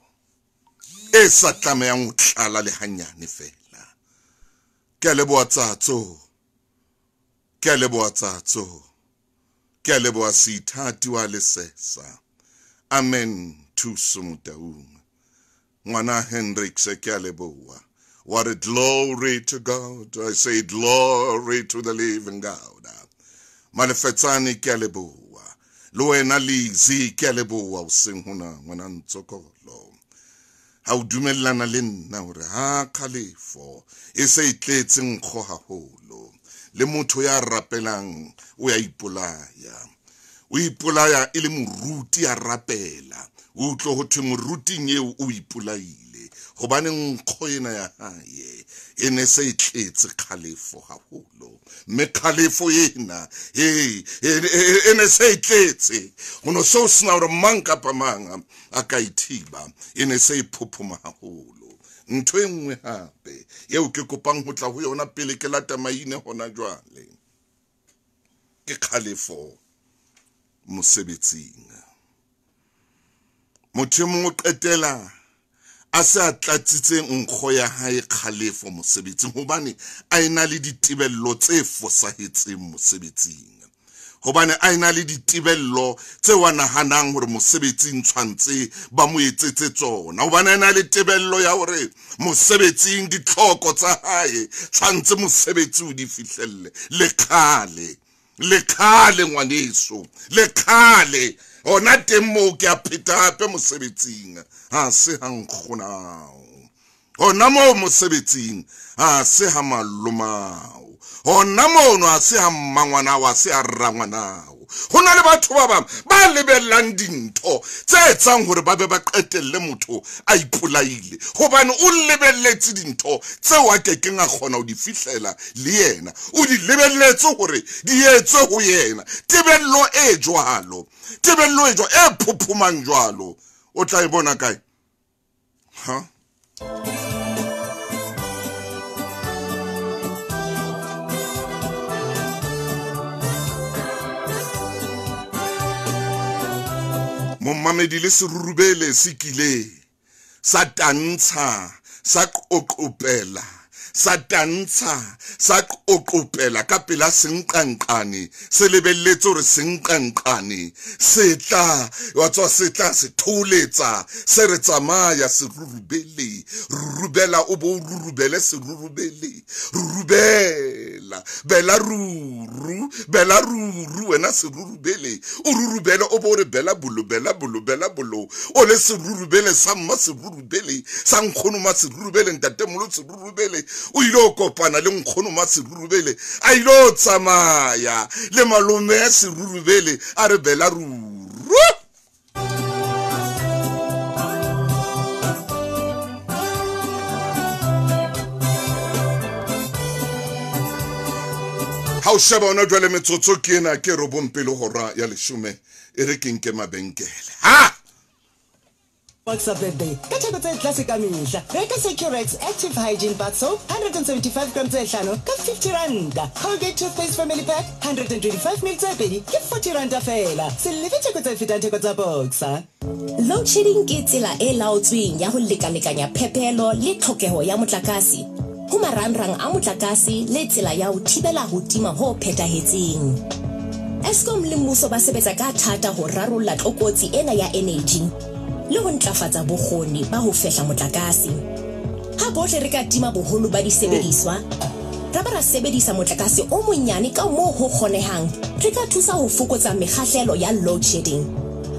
e sa tlamehang ho tlala le hanyane fela. Ke a leboha Tsatso, ke a leboha Tsatso, ke a leboha Seithati wa Lesesa. Amen. Thuso Motaung, ngwana Hendricks, ke a leboha. What a glory to God. I say glory to the living God. Malefetsane, ke a leboha. Le wena Lizzy, ke a leboha hoseng hona, ngwana Ntsokolo. Ha o dumellana le nna hore ha kgalefo e se e tletse nkgo haholo, le motho ya rapelang o ya ipolaya. O ipolaya e le moruti a rapela. O utlwe ho thwe moruting eo o ipolaile hobane nkgo ena ya hae e ne se e tletse kgalefo haholo. Mme kgalefo ena e ne se e tletse, ho no se o sena hore mang kapa mang a ka ithiba, e ne se e phophoma haholo. Ntho e nngwe hape eo ke kopang ho tla ho yona pele ke lata maine hona jwale ke kgalefo mosebetsing. Motho e mong o qetela a se a tlatsitse nkgo ya hae kgalefo mosebetsing hobane a ena le ditebello tse fosahetseng mosebetsing, hobane a ena le ditebello tse wa nahanang hore mosebetsing tshwantse ba mo etsetse tsona, hobane a ena le tebello ya hore mosebetsing ditlhoko tsa hae tshwantse mosebetsi o di fihlelle. Le kgale, le kgale ngwaneso, le kgale hona teng moo ke a pheta hape mosebetsing ha se ha nkgonao, hona moo mosebetsing ha se ha malomao, hona mono ha se ha mmangwanao, ha se ha rangwanao. Ho na le batho ba bang ba lebellang dintho tse etsang hore ba be ba qetelle motho a ipolaile hobane o lebelletse dintho tseo a kekeng a kgona ho di fihlela le yena, o di lebelletse hore di etswe ho yena. Tebello e jwalo, tebello e jwalo e phophomang jwalo, o tla e bona kae? Ha? Momamedi le serurubele se kile sa tantsha sa qoqopela, sa tantsha sa qoqopela ka pela senqanqane, se lebelletse hore senqanqane se tla wa tswa, se tla se tholetsa, se re tsamaya serurubele, rurubela o bo rurubele serurubele, rurubela bela ruru, bela ruru wena serurubele, o rurubele o bo re bela bolo, bela bolo, bela bolo, o le serurubele sa mma serurubele sa nkgono ma serurubele ntatemolo serurubele, o ile o kopana le nkgono ma serurubele, a ile o tsamaya le malome ya serurubele a re bela ruru. Ha o sheba hona jwale metsotso ke ena ke 9 pele hora ya 10, e re ke nke mabenkele. Ha Boxer birthday ka theko tse tlase ka mehla. Reka Securex Active Hygiene Bath Soap 175 gram tse hlano ka 50 ranta. Colgate Toothpaste Family Pack 125 ml tse pedi ke 40 ranta fela. Se lefe theko tse fetang theko tsa Boxer. Load shedding ke tsela e laotsweng ya ho lekalekanya phepelo le tlhokeho ya motlakase ho marangrang a motlakase le tsela ya ho thibela ho tima ho phethahetseng. Eskom le mmuso ba sebetsa ka thata ho rarolla tlokotsi ena ya energy le ho ntlafatsa bokgoni ba ho fehla motlakase. Ha bohle re ka tima boholo ba disebediswa, ra ba ra sebedisa motlakase o monyane ka moo ho kgonehang, re ka thusa ho fokotsa mekgahlelo ya load shedding.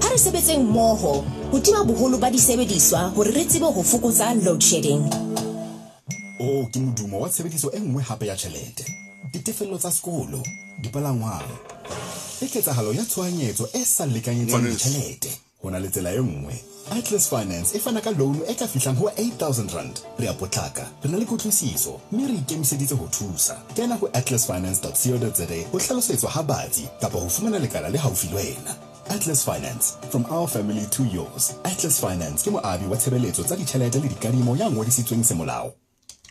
Ha re sebetseng mmoho ho tima boholo ba disebediswa hore re tsebe ho fokotsa load shedding. O ke modumo wa tshebediso e nngwe hape ya tjhelete, ditefello tsa sekolo, dipalangwang, le ketsahalo ya tshohanyetso e sa lekanyetswang ditjhelete. Ho na le tsela e nngwe. Atlas Finance e fana ka loan e ka fihlang ho 8000 rand. Re a potlaka, re na le kutlwisiso, mme re ikemiseditse ho thusa. Kena ho atlasfinance.co.za ho hlalosetswa ha batsi kapa ho fumana lekala le haufi le wena. Atlas Finance, from our family to yours. Atlas Finance ke moabi wa tshebeletso tsa ditjhelete le dikadimo ya ngodisitsweng semolao.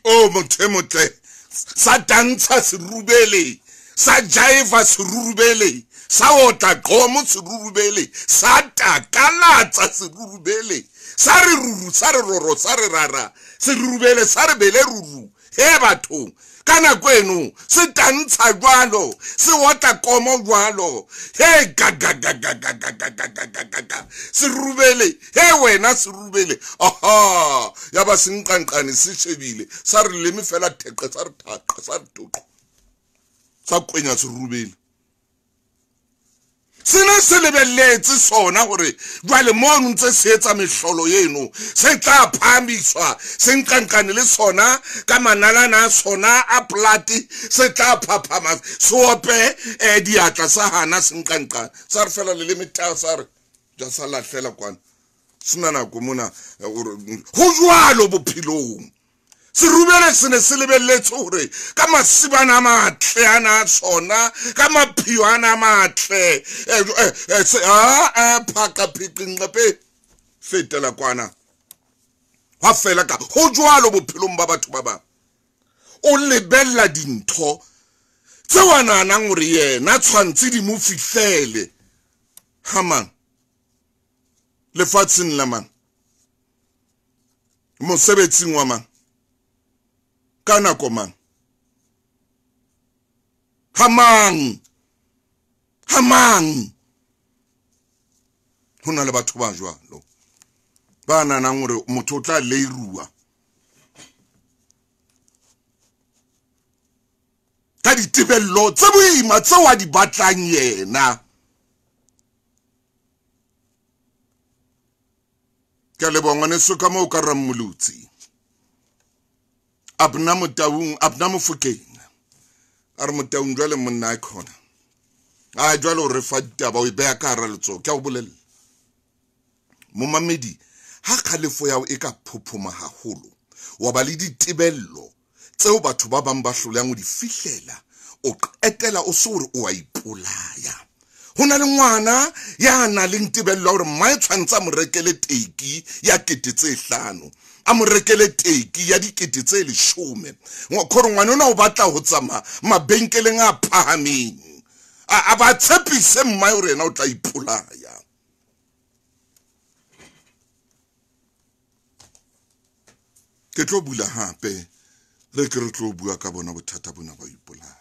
O motho e motle, sa tantsha serubele, sa jaiva serubele, sa otla qomo serubele, sa takalatsa serubele, sa re ruru, sa re roro, sa re rara, serubele, sa re bele ruru. He bathong, ka nako eno se tantsha jwalo, se otla komo jwalo. He ga ga ga ga ga ga ga ga ga ga ga. Serubele, he wena serubele. Aha, ya ba senqanqane se shebile, sa re leme fela theqe, sa re thaqe, sa re toqo. Sa kwenya serubele. Sena se lebelletse sona hore jwale mono ntse se etsa mehlolo eno, se tla phahamiswa, se nqanqane le sona ka manalana a sona a plate, se tla phaphama, se ope diatla sa hana se nqanqane. Sa re fela le leme ta, sa re ja sa lahlela kwana. Sena nako mona ho jwalo bophelong. Serubele se ne se lebelletse hore ka masibana a matle ana a sona, ka maphio ana a matle, phaka phiqinqepe fetela kwana. Hwa fela ka ho jwalo bophelong ba batho ba bang. O lebella dintho tseo a nahanang hore yena tshwantse di mo fihlele. Ha mang lefatsheng la mang, mosebetsing wa mang, ka nako mang, ha mang, ha mang. Ho na le batho ba jwalo ba nahanang hore motho o tla leirua ka ditebello tse boima tseo a di batlang yena. Ke a leboha ngwaneso ka moo ka Rammolotsi. Abna Motaung, Abna Mofokeng. A re Motaung jwale monna a khona. A jwale o re fa ditaba o e beha ka hara letsoho. Ke a o bolella. Momamedi, ha kgalefo ya hao e ka phophoma haholo, wa ba le ditebello tseo batho ba bang ba hlolehang ho di fihlela, o qetela o se hore o a ipolaya. Ho na le ngwana ya nang le tebello ya hore mmae tshwantse a mo rekele teki ya 5,000, a mo rekele teki ya 10,000. Khore ngwana ona o batla ho tsamaya mabenkeleng a phahameng, a ba tshepise mmae hore yena o tla ipolaya. Ke tlo bula hape, re ke re tlo bua ka bona bothata bona ba ipolaya.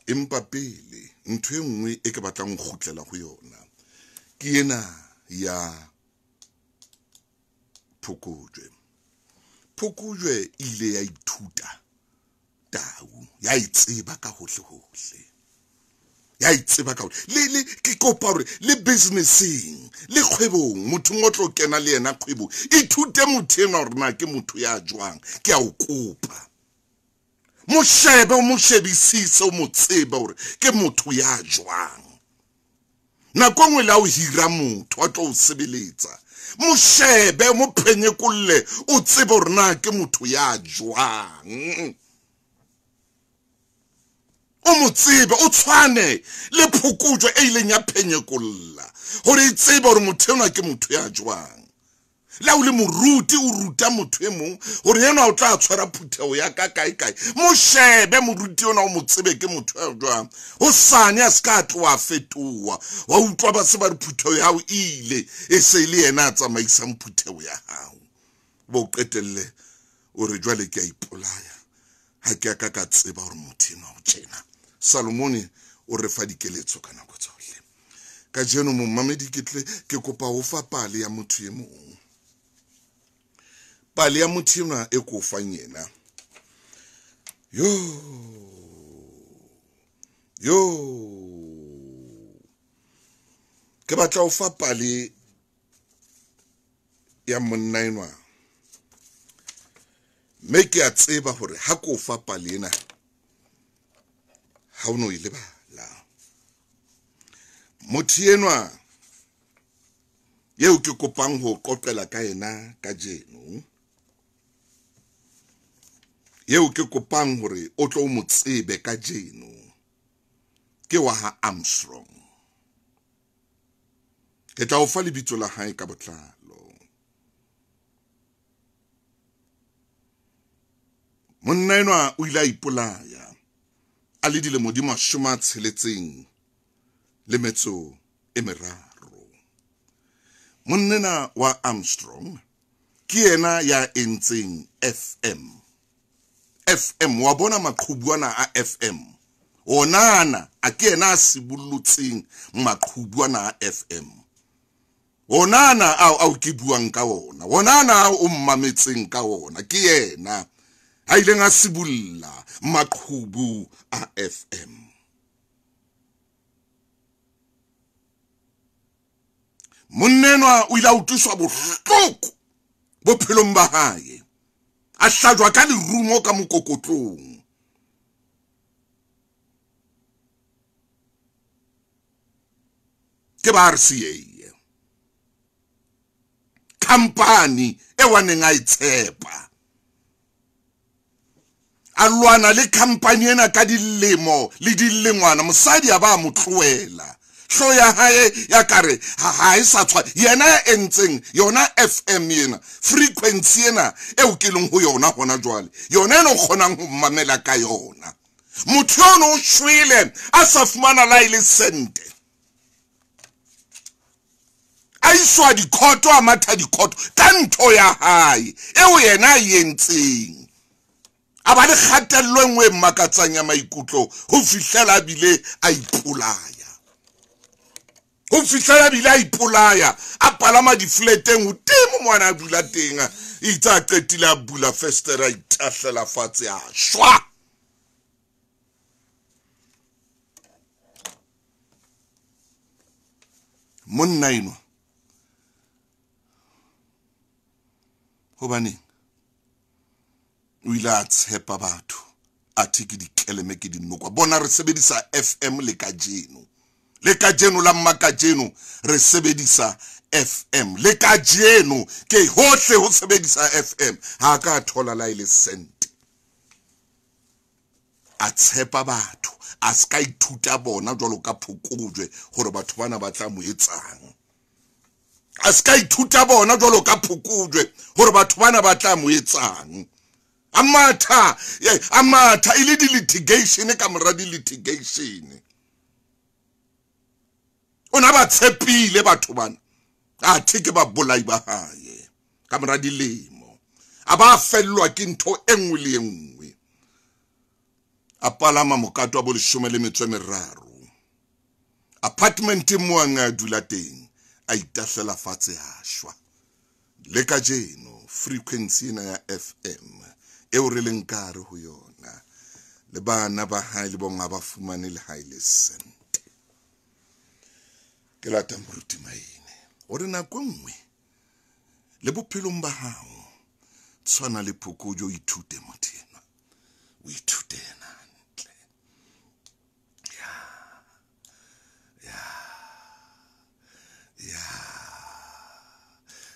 Empa pele ntho e nngwe e ke batlang ho kgutlela ho yona ke ena ya Phokojwe. Phokojwe e ile ya ithuta tau, ya itseba ka hohle hohle, ya itseba ka hohle. Le ke kopa hore le businesseng le kgwebong, motho o tlo kena le yena kgwebong, ithute motho enwa hore na ke motho ya jwang. Ke a o kopa, mo shebe, o mo shebisise, o mo tsebe hore ke motho ya jwang. Nako nngwe le ha o hira motho a tlo o sebeletsa, mo shebe, mo phenyekolle, o tsebe hore na ke motho ya jwang. O mo tsebe, o tshwane le phokojwe e ileng ya phenyekolla hore e tsebe hore motho enwa ke motho ya jwang. Le ha o le moruti, o ruta motho e mong hore enwa o tla tshwara phutheho ya ka kae kae, mo shebe moruti ona, o mo tsebe ke motho ya jwang. Hosane a se ka tloha fetoha, wa utlwa ba se ba re phutheho ya hao e ile, e se le yena a tsamaisang phutheho ya hao. Bo qetelle o re jwale ke a ipolaya, ha ke a ka ka tseba hore motho enwa o tjena. Salomone o re fa dikeletso ka nako tsohle. Kajeno momamedi ke tle ke kopa ho fa pale ya motho e mong. Pale ya motho enwa e ko fang yena. Yo, yo, ke batla ho fa pale ya monna enwa. Mme ke a tseba hore ha ko fa pale ena ha o no e lebala. Motho enwa eo ke kopang ho qoqela ka yena kajeno, eo ke kopang hore o tlo mo tsebe kajeno, ke wa ha Armstrong. Ke tla o fa lebitso la hae ka botlalo. Monna enwa o ile a ipolaya a le dilemo di 63. Monna ena wa Armstrong ke yena ya entseng FM. FM wa bona maqhubu ana a FM. Onana a ke yena a sibullotseng maqhubu ana a FM. Onana ao ke buang ka ona. Onana ao o mmametseng ka ona ke yena a ileng a sibulla maqhubu a FM. Monna enwa o ile a utlwiswa bohloko bophelong ba hae. A hlajwa ka lerumo ka mokokotlong. Ke ba RCA. Company e waneng a itshepa. A lwana le company ena ka dilemo le dilengwana, mosadi a ba mo tlohela. Hlo ya hae ya kare ha e sa tshwa yena ya entseng yona FM yena frequency ena eo ke leng ho yona hona jwale, yona eno kgonang ho mamela ka yona. Motho ono o shwele a sa fumana la ile sente, a iswa dikhoto, a matha dikhoto ka ntho ya hae eo yena a entseng. A ba le kgatello e nngwe e makatsang ya maikutlo ho fihlela bile a ipolaya. Ho fihlela bile a ipolaya, a palama difleteng hodimo mwana a dula teng, itse a qetile a bula festere a itahlela fatshe a shwa. Monna enwa hobaneng o ile a tshepa batho, athe ke dikeleme ke dinokwa. Bona re sebedisa FM le kajeno. Le kajeno la mmakajeno re sebedisa FM. Le kajeno ke hohle ho sebedisa FM. Ha ka thola la ile sente. A tshepa batho, a ska ithuta bona jwalo ka phokojwe hore batho bana ba tla mo etsang. A ska ithuta bona jwalo ka phokojwe hore batho bana ba tla mo etsang. A matha e le di litigation ka mora di litigation. Ona ba tshepile batho bana, athe ke ba bolai ba hae ka mora dilemo. A ba fellwa ke ntho e nngwe le e nngwe. A palama mokato wa bo 13. Apartment mo a dula teng, a itahlela fatshe a shwa. Le kajeno frequency ena ya FM eo re leng ka hare ho yona, le bana ba hae le bonga ba fumane le hae le sente. Ke lata moruti Maine o re nako nngwe le bophelong ba hao tshwana le phokojo, o ithute motho enwa, o ithute yena hantle. Ya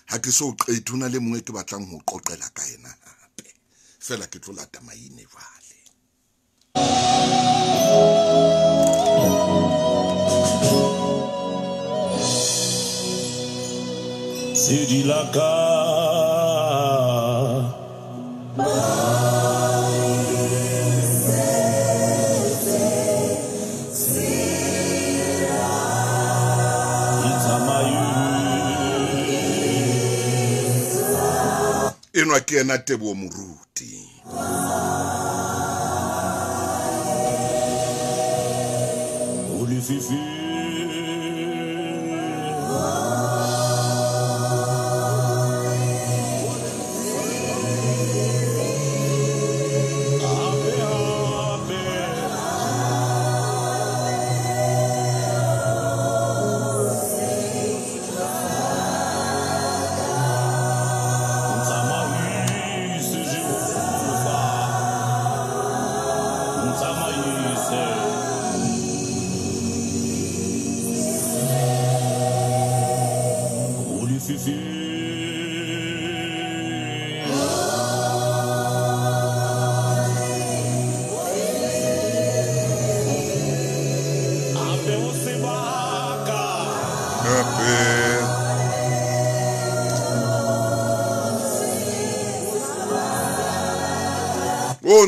ha ke so qete, ho na le mongwe ke batlang ho qoqela ka yena hape, fela ke tlo lata Maine jwale. Sedi la ka enwa ke yena Teboho Moruti. Olififi Happy.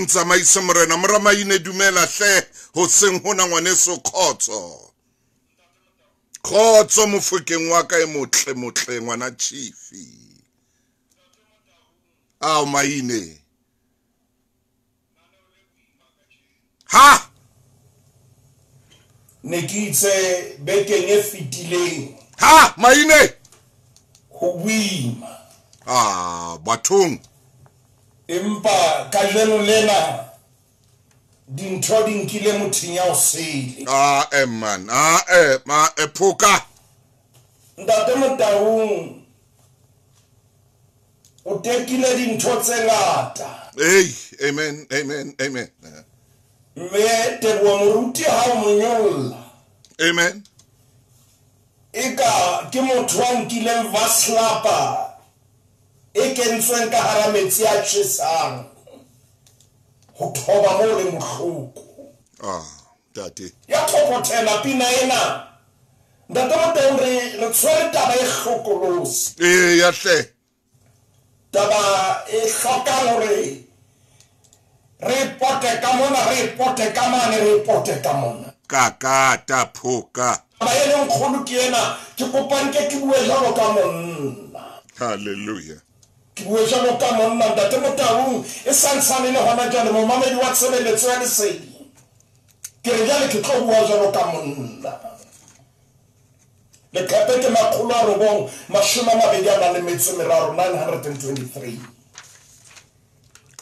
Ntsamaise morena. Moramaine dumela hle hoseng hona ngwaneso khotso. Khotso mofokeng wa ka e motle motle ngwana chifi. Ao maine. Ha! Ne ke itse bekeng e fetileng. Ha maine. Ho boima. Ah, bathong. Empa kajeno lena dintho di nkile motheng ya o sele. Ah, man. Ah, ma phoka. Ntate Motaung o tekile dintho tse ngata. Hey, amen, amen, amen. Mme Teboho Moruti ha o monyolla. Amen. Eka ke motho a nkileng vaslapa e kentsweng ka hara metsi a tjhesang ho thoba mo le mohloko. Ah, ntate. Ya thokothela pina ena. Ntate Motaung re tshwere taba e hlokolosi. Eh, ya hle. Taba e hlokang hore re pote ka mona, re pote ka mane, re pote ka mona. Kakata phoka. Taba e leng kgolo ke ena, ke kopang ke bue jwalo ka monna. Hallelujah. Ke bue jwalo ka monna Ntate Motaung e santsane le hona jwale momamedi wa tshebeletso ya lesedi. Ke re jwale ke tlo bua jwalo ka monna. Leqephe ke 923 923.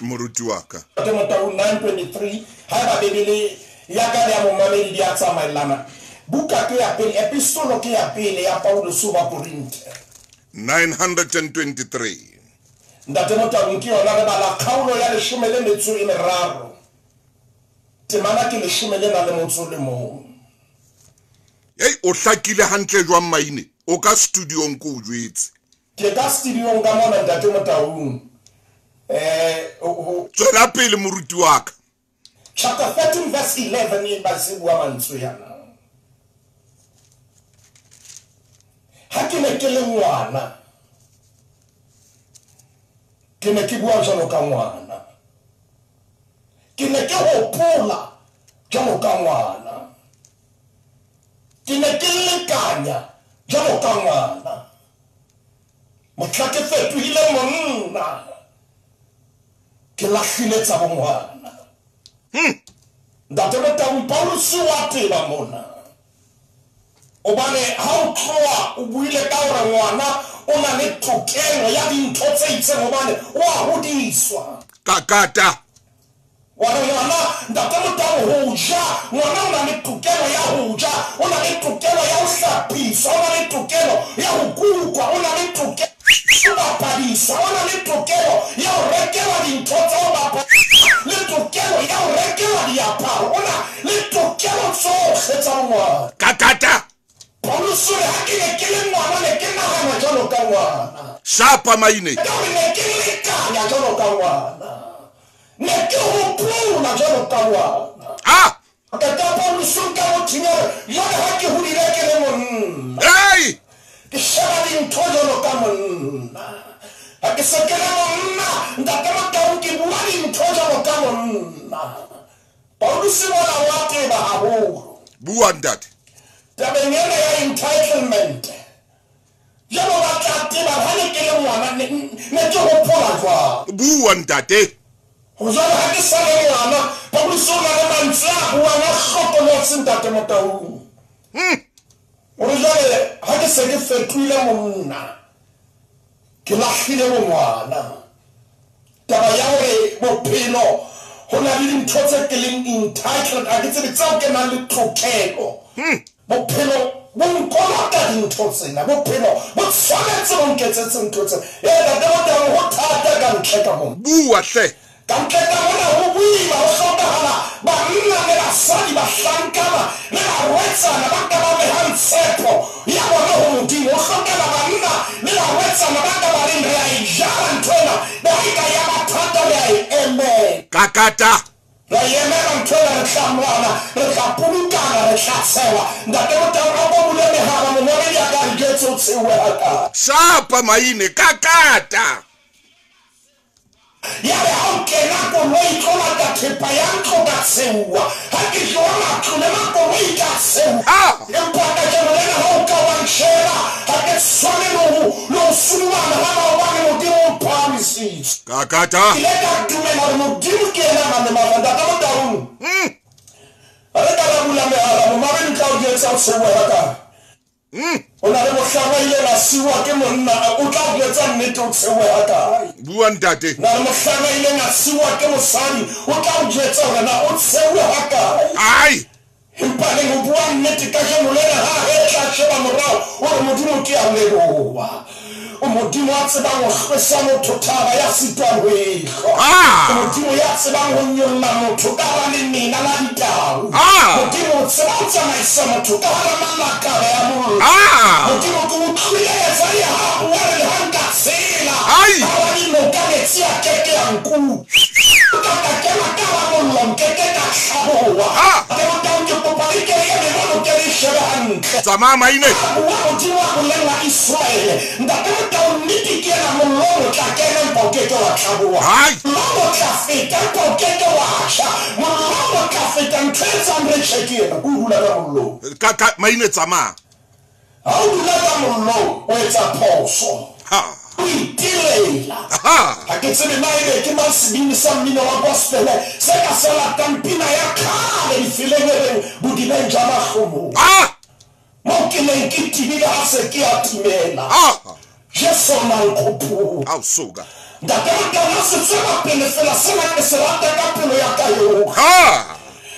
Moruti wa ka. Ntate Motaung 923 haeba Bibele ya ka le ya momamedi di a tsamaellana. Buka ke ya pele, epistolo ke ya pele ya Paulus ho Bakorinthe. 923. Ntate Motaung ke yona re bala kgaolo ya 13. Temana ke 11. Hey, o hlakile hantle jwang maine? O ka studiong ko o jwetse. Ke ka studiong ka mona Ntate Motaung. Tswela pele moruti wa ka. Chapter 13 verse 11 e ba se bua mantswe yana. Ha ke ne ke le ngwana, ke ne ke bua jwalo ka ngwana. Ke ne ke hopola jwalo ka ngwana. Ke ne ke lekanya jwalo ka ngwana. Mohla ke fetohile monna, ke lahlile tsa bongwana. Ntate Motaung Paulus wa teba mona. Obane ha o tloha o buile ka hore ngwana o na le tokelo ya dintho tse itseng hobane o a hodiswa. Kakata. Wa re ngwana Ntate Motaung ho ja, ngwana o na le tokelo ya ho ja, o na le tokelo ya ho hlapiswa, o na le tokelo ya ho kukwa, o na le tokelo ya ho bapadiswa, o na le tokelo ya ho rekelwa dintho tsa ho bapala, le tokelo ya ho rekelwa diaparo, o na le tokelo tsohle tsa ngwana. Kakata. Paulus o re ha ke ne ke le ngwana ne ke nahana jwalo ka ngwana. Shapa maine. Ka hore ne ke lekanya jwalo ka ngwana. Ne ke hopola jwalo ka ngwana. Ah! Ka Paulus o nka motho ya hore jwale ha ke hodile ke le monna. Hey! Ke sheba dintho jwalo ka monna. Ha ke se ke le monna, Ntate Motaung ke bua dintho jwalo ka monna. Paulus mona wa teba haholo. Bua ntate. Tabeng ena ya entitlement. Jwalo ba tla teba ha ne ke le ngwana ne ke hopola jwang. Bua ntate. Ho jwale ha ke sa le ngwana, Paulus o na le mantswe a buang a hlokolotse Ntate Motaung. Hore jwale ha ke se ke fetohile monna, ke lahlile bongwana. Taba ya hore bophelo ho na le dintho tse ke leng entitled, ha ke tsebe tseo ke nang le tokelo. Bophelo bo nkolota dintho tsena, bophelo bo tshwanetse bo nketsetse ntho tsena. Ee, Ntate Motaung ho thata ka ntle ka mona. Bua hle. Ka ntle ka mona ho boima, ho hlokahala banna le basadi, bahlankana le barwetsana ba ka ba behang tshepo ya bona ho Modimo. Ho hlokahala banna le barwetsana ba ka ba reng re a e jala ntho ena, le ha e ka ya ba thata re a e emela. Kakata. Re emela ntho ena, re tla lwana, re tla polokana, re tla tshewa. Ntate Motaung a ko bule mehala, momamedi a ka re jwetse o tshewe hakae. Shapa maine, kakata. Ya re ha o kena koloi tlo lata thepa ya ntlo ka tsheuwa. Ha ke tloha matlo le makoloi ka tsheuwa. Empa kajeno lena ha o ka wa ntjheba, ha ke tshwane le ho sudumana ha maobane Modimo o mphahamisitse. Kakata. Ke ile ka dumela hore Modimo ke yena a nang le matla. Ntate Motaung. Ha re ka ra bula mehala, momamedi o tla o jwetsa o tsheuwe hakae. O na le mohlang a ileng a siuwa ke monna, o tla o jwetsa nnete o tsheuwe hakae. Bua ntate. Na le mohlang a ileng a siuwa ke mosadi, o tla o jwetsa hore na o tsheuwe hakae. Ai. Empa neng o bua nnete kajeno lena ha re tla sheba morao, o re Modimo ke a leboha. O Modimo a tsebang ho hlwesa motho thaba ya sitwang ho e hlwa. O Modimo ya tsebang ho nyolla motho ka hara lemena la ditau. Modimo o tseba ho tsamaisa motho ka hara malakabe a mollo. Modimo ke utlwile Esaia ha a bua re le ha nka tshela hara dinoka metsi a keke a nkutlwa. Ka ka kena ka hara mollo nkeke ka hlaboha. Ke Motaung ke kopa le ke eme mono ke le shebe hantle. Tsamaya maine. A bua Modimo a bolella Israele. Ntate Motaung nnete ke ena mollo o tla kena empa o keke wa hlaboha. Mollo o tla feta empa o keke wa tjha. Mollo o tla feta ntho e etsang re tjhe ke ena, ke o dula ka mollong. Ka maine tsamaya. Ha o dula ka mollong o etsa phoso. O itilela. Ha ke tsebe na ebe ke mang sebini sa mmino wa gospel se ka se latang pina ya kgale difeleng e reng bodibeng jwa mahlomola. Mo ke neng ke tibile ha se ke a timela. Jesu o na nkgopola. Ao suka. Ntate Motaung ha se tswela pele fela sena ke se rata ka pelo ya ka yohle.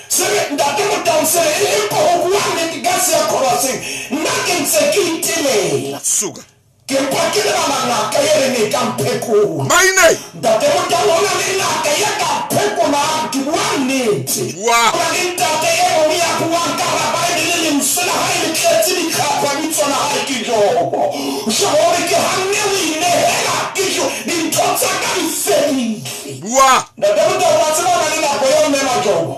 Se re ntate Motaung se re empa ho bua nnete ka se ya choruseng nna ke ntse ke itelela. Suka. Ke mpa ke lebala ngaka e reng e ka mphekola. Maine. Ntate Motaung ho na le ngaka e ka mphekolang, ke bua nnete. Bua. Ho na le ntate e mong ya buang ka hara Bible lentswe la hae le tletse ditlhapa bitso la hae ke Jobo. Jobo o re ke hanne ho inehela ke jo dintho tsa ka di fedile. Bua. Ntate Motaung wa tseba ho na le nako eo mme Majobo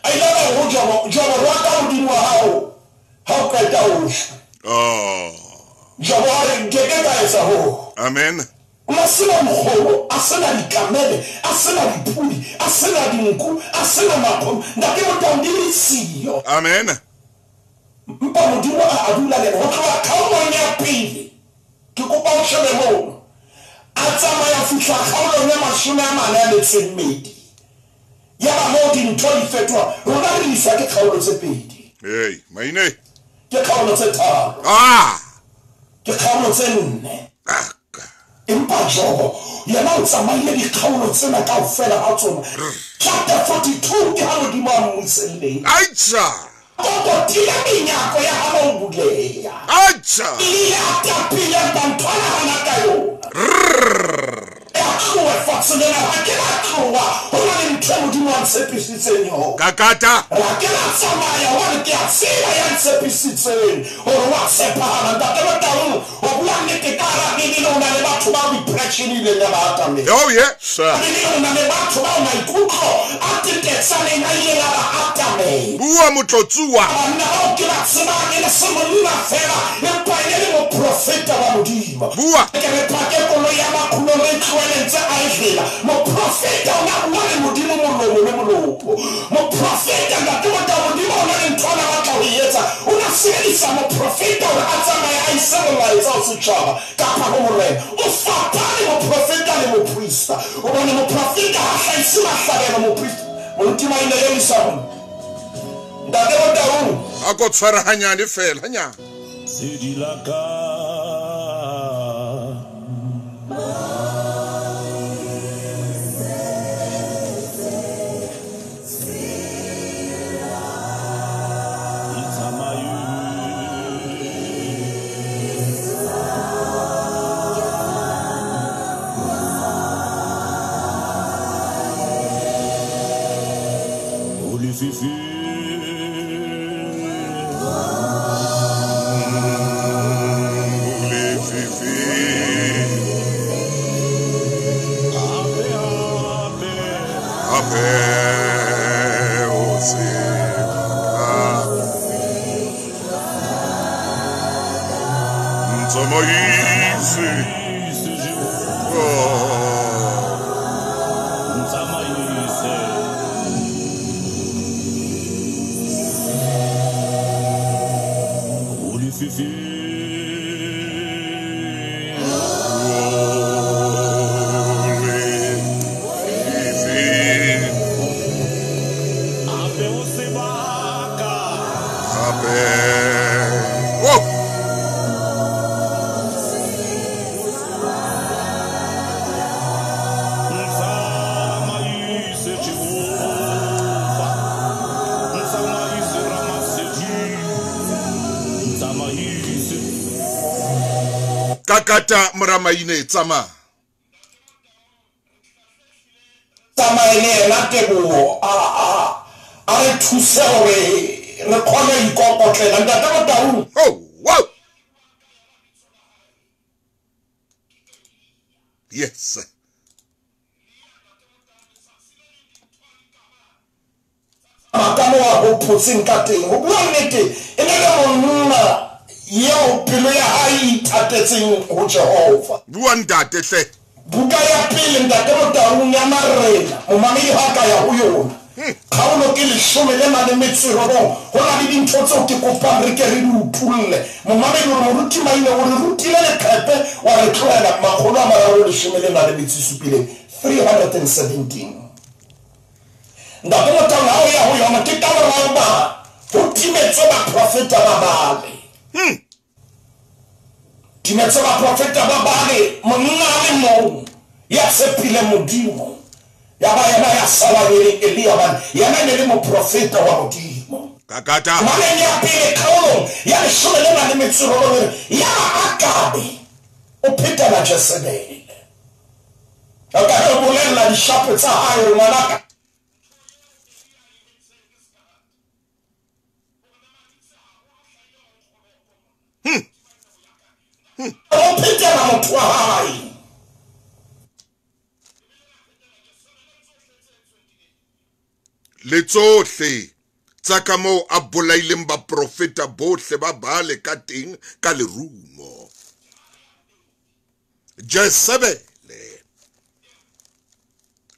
a ile a re ho Jobo, Jobo rwaka Modimo wa hao ha o qeta ho shwa. Oh. Jobo a re nkeke ka etsa hoo. Amen. O sena mokgobo, a sena dikamele, a sena dipudi, a sena dinku, a sena makgomo. Ntate Motaung di le siyo. Amen. Mpa Modimo a dula le ho tloha kgaolong ya pele. Ke kopa o shebe mono. A tsamaya fihla kgaolong ya 42. Ya ba moo dintho di fetoha. Rona re iswa ke kgaolo tse pedi. Hey, maine. Ke kgaolo tse tharo. Ke kgaolo tse nne. Empa Jobo yena o tsamaile dikgaolo tsena kaofela ha tsona. Chapter 42 ke ha Modimo a mmuselleng. Aitja. Kokotile menyako ya ha o buleya. Aitja. Ile a tapile banthwana hana ka yona. Ya tloha fatshe lena ha ke la tloha. Ho na le ntho e Modimo a ntshepisitseng yona. Kakata. Ra ke la tsamaya hobane ke a tseba ya ntshepisitseng hore wa tshepahala. Ntate Motaung o bua nnete ka hara Bibele ho na le batho bao depression e ileng ya ba atamela. Oh yeah, sir. Bibele ho na le batho bao maikutlo a tetetsaneng a ileng a ba atamela. Bua motlotsuwa. Banna bao ke ba tsebang e le se monna fela empa e le moprofeta wa Modimo. Bua. Ke re pake koloi ya makhulo re tlohele ntse a e fela. Moprofeta o na bua le Modimo molomo le molomo. Moprofeta ntate Motaung Modimo o na le ntho a batla ho e etsa. O na sebedisa moprofeta hore a tsamaye a ise molaetsa ho setjhaba kapa ho morena. O fapane moprofeta le moprista. Hobane moprofeta ha hlahise mahlabelo moprista. Moruti Maine e isa ho nna. Ntate Motaung. A ko tshware hanyane fela, hanyane. Sedi la ka. Ntsamaise. Oh. Kakata moramaine tsamaya. Tsamaye le yena Teboho a re thuse hore re kgone ho ikokotlela. Ntate Motaung. Oh, wow. Yes. Ka mo a hopotseng ka teng. Ho bua nnete, e ne le monna eo pelo ya hae e ithatetseng ho Jehova. Bua ntate hle. Buka ya pele ntate Motaung ya Marena, momamedi ha ka ya ho yona. Kgaolo ke 19, ho na le dintho tseo ke kopang re ke re di utulle. Momamedi o re moruti Maine o re rutile leqepe wa re tlohela 317, 317. Ntate Motaung ha o ya ho yona ke ka morao ba ho timetswe baprofeta ba bale. Timetswe baprofeta ba bale, monna a le mong ya tshepile Modimo. Ya ba yena ya sala le Elia bane, yena ne le moprofeta wa Modimo. Kakata. Maneng ya pele kgaolong ya 19 ya Akabe o phetela Jezebele. A ka re bolella dishapo tsa hae hore ngwanaka. O phetela motho wa hae. Le tsohle tsa ka moo a bolaileng baprofeta bohle ba Baale ka teng ka lerumo. Jezebele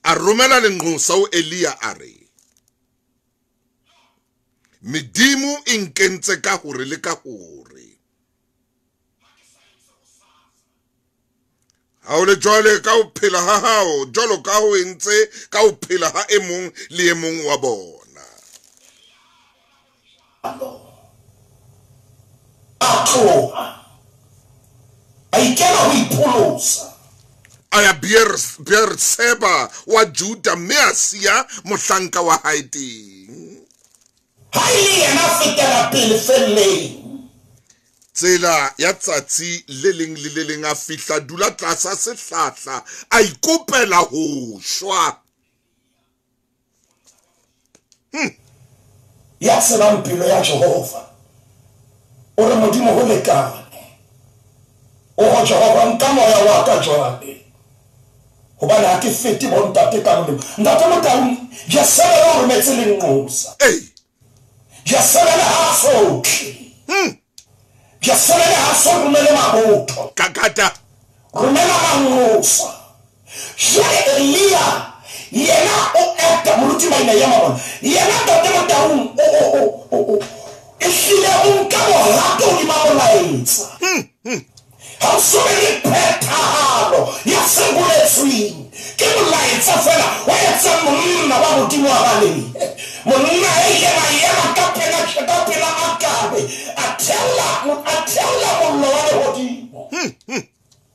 a romela lenqosa ho Elia a re, medimo e nkentse ka hore le ka hore. Ha o le jwale ka ho phela ha hao, jwalo ka ho entse ka ho phela ha e mong le e mong wa bona. A tloha, a ikela ho ipholosa. A ya Beerseba wa Juda mme a siya mohlanka wa hae teng. Ha e le yena a fetela pele felleng. Tsela ya tsatsi le leng le le leng a fihla dula tlasa sehlahla a ikopela ho shwa. Ya tsebang pelo ya Jehova o re Modimo ho lekane. O ho Jehova nka moya wa ka jwale, hobane ha ke fete bontate ka molemo. Ntate Motaung, Jezebele o rometse lenqosa. Jezebele ha sotle. Jezebele ha so romele mabotho. Kakata. Romela manqosa. Jwale Elia yena o eta moruti Maine ya mabona. Yena ntate Motaung o ehlile o nka bohato hodima molaetsa. Ha o so be le phethahalo ya se boletsweng. Ke molaetsa fela wa etsa monna wa Modimo wa balehe. Monna e ileng a ema ka pela Akabe, a theola mollo wa lehodimo.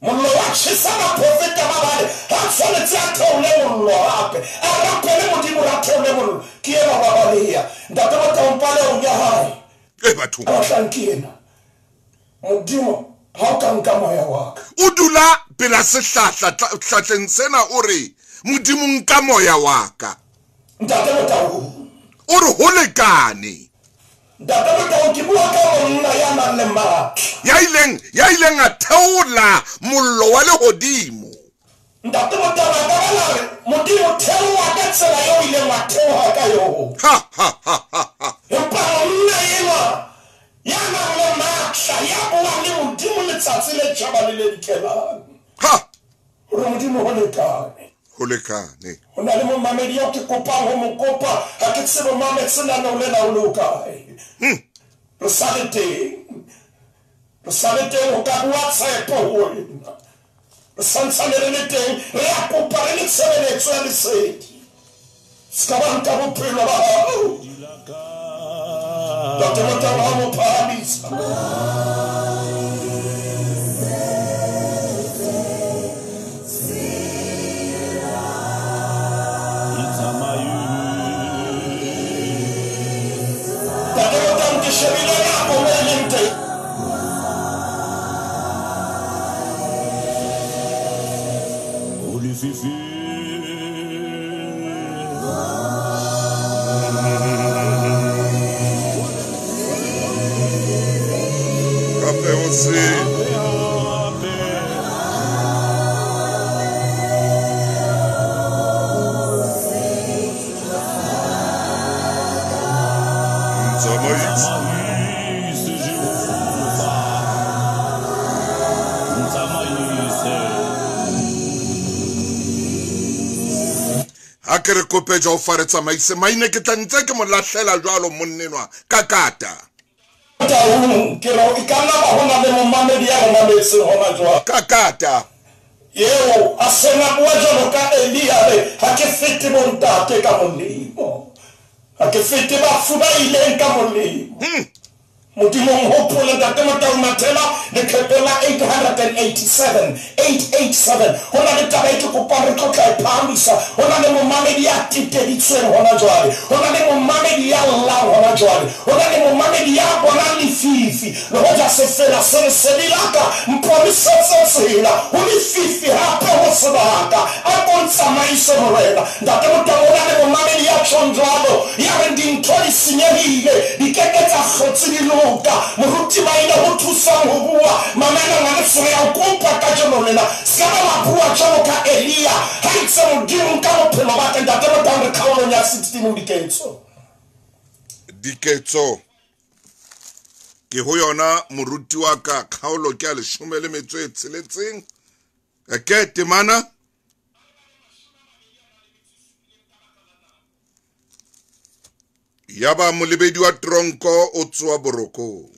Mollo wa tjhesa baprofeta ba bale. Ha tshwanetse a theole mollo hape, a rapele Modimo a theole mollo. Ke ena wa baleha. Ntate Motaung palehong ya hae. Bathong. A batlang ke ena. Modimo ha o ka nka moya wa ka. O dula pela sehlahla hlahleng sena o re Modimo nka moya wa ka. Ntate Motaung. O re ho lekane. Ntate Motaung ke bua ka monna ya nang le matla. Ya ileng a theola mollo wa lehodimo. Ntate Motaung a ka ba la re Modimo theoha ka tsela eo ileng wa theoha ka yona. Ha ha ha ha. Empa monna enwa ya nang le matla ya buang le Modimo letsatsi le tjhaba le le dikelang. Ha. Hore Modimo ho lekane. Ho lekane. Ho na le momamedi eo ke kopang ho mo kopa, ha ke tsebe mametse lenaneo lena o le ho kae. Re sa le teng. Re sa le teng ho ka bua tshepo ho wena. Re santsane re le teng, re a kopa re le tshebeletso ya lesedi. Se ka ba nka bophelo ba hao. Ntate Motaung ha mo phahamisa. Ntate Motaung ke shebile nako mo e leng teng. Hoseng. Ha ke re kope Jehova re tsamaise maine ke tla ntse ke mo lahlela jwalo monnenwa ka kata. Ke re e ka nna ba hona le momamedi ya re mametseng hona jwale. Ka kata. Eo a sena bua jwalo ka Elia re ha ke fete bontate ka molemo. Ha ke fete bafu ba ileng ka molemo. Modimo hopole ntate Motau Mathela lekgetho la 887 887 hona le taba e ke kopang re tlo tla e phahamisa. Hona le momamedi ya teteditsweng hona jwale, hona le momamedi ya llang hona jwale, hona le momamedi ya bonang lefifi le hoja sefela se lesedi la ka mponisetse tsela ho lefifi hape ho sebaka a ko ntsamaise Morena. Ntate Motau hona le momamedi ya tjhong jwalo ya reng dintho di senyehile di keke tsa hlotse di loka. Moruti maina ho thusang ho bua mamela ngwaneso ya o kopa kajeno lena se ka ba bua jwalo ka Elia ha itse Modimo ka bophelo ba ka. Ntate Motau re kgaolong ya 16 ho Diketso. Diketso ke ho yona moruti wa ka kgaolo ke ya 16 ke temana yaba molebedi wa tronko o tswa borokong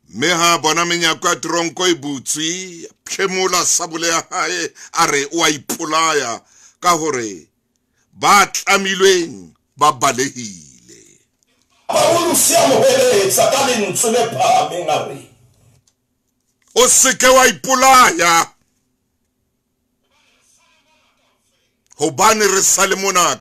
mme ha bona menyako ya tronko e butswe phemola sabole ya hae a re o a ipolaya ka hore ba tlamilweng ba balehile. Paulus ya mo heletsa ka lentswe le phahameng a re o seke wa ipolaya hobane re sa le mona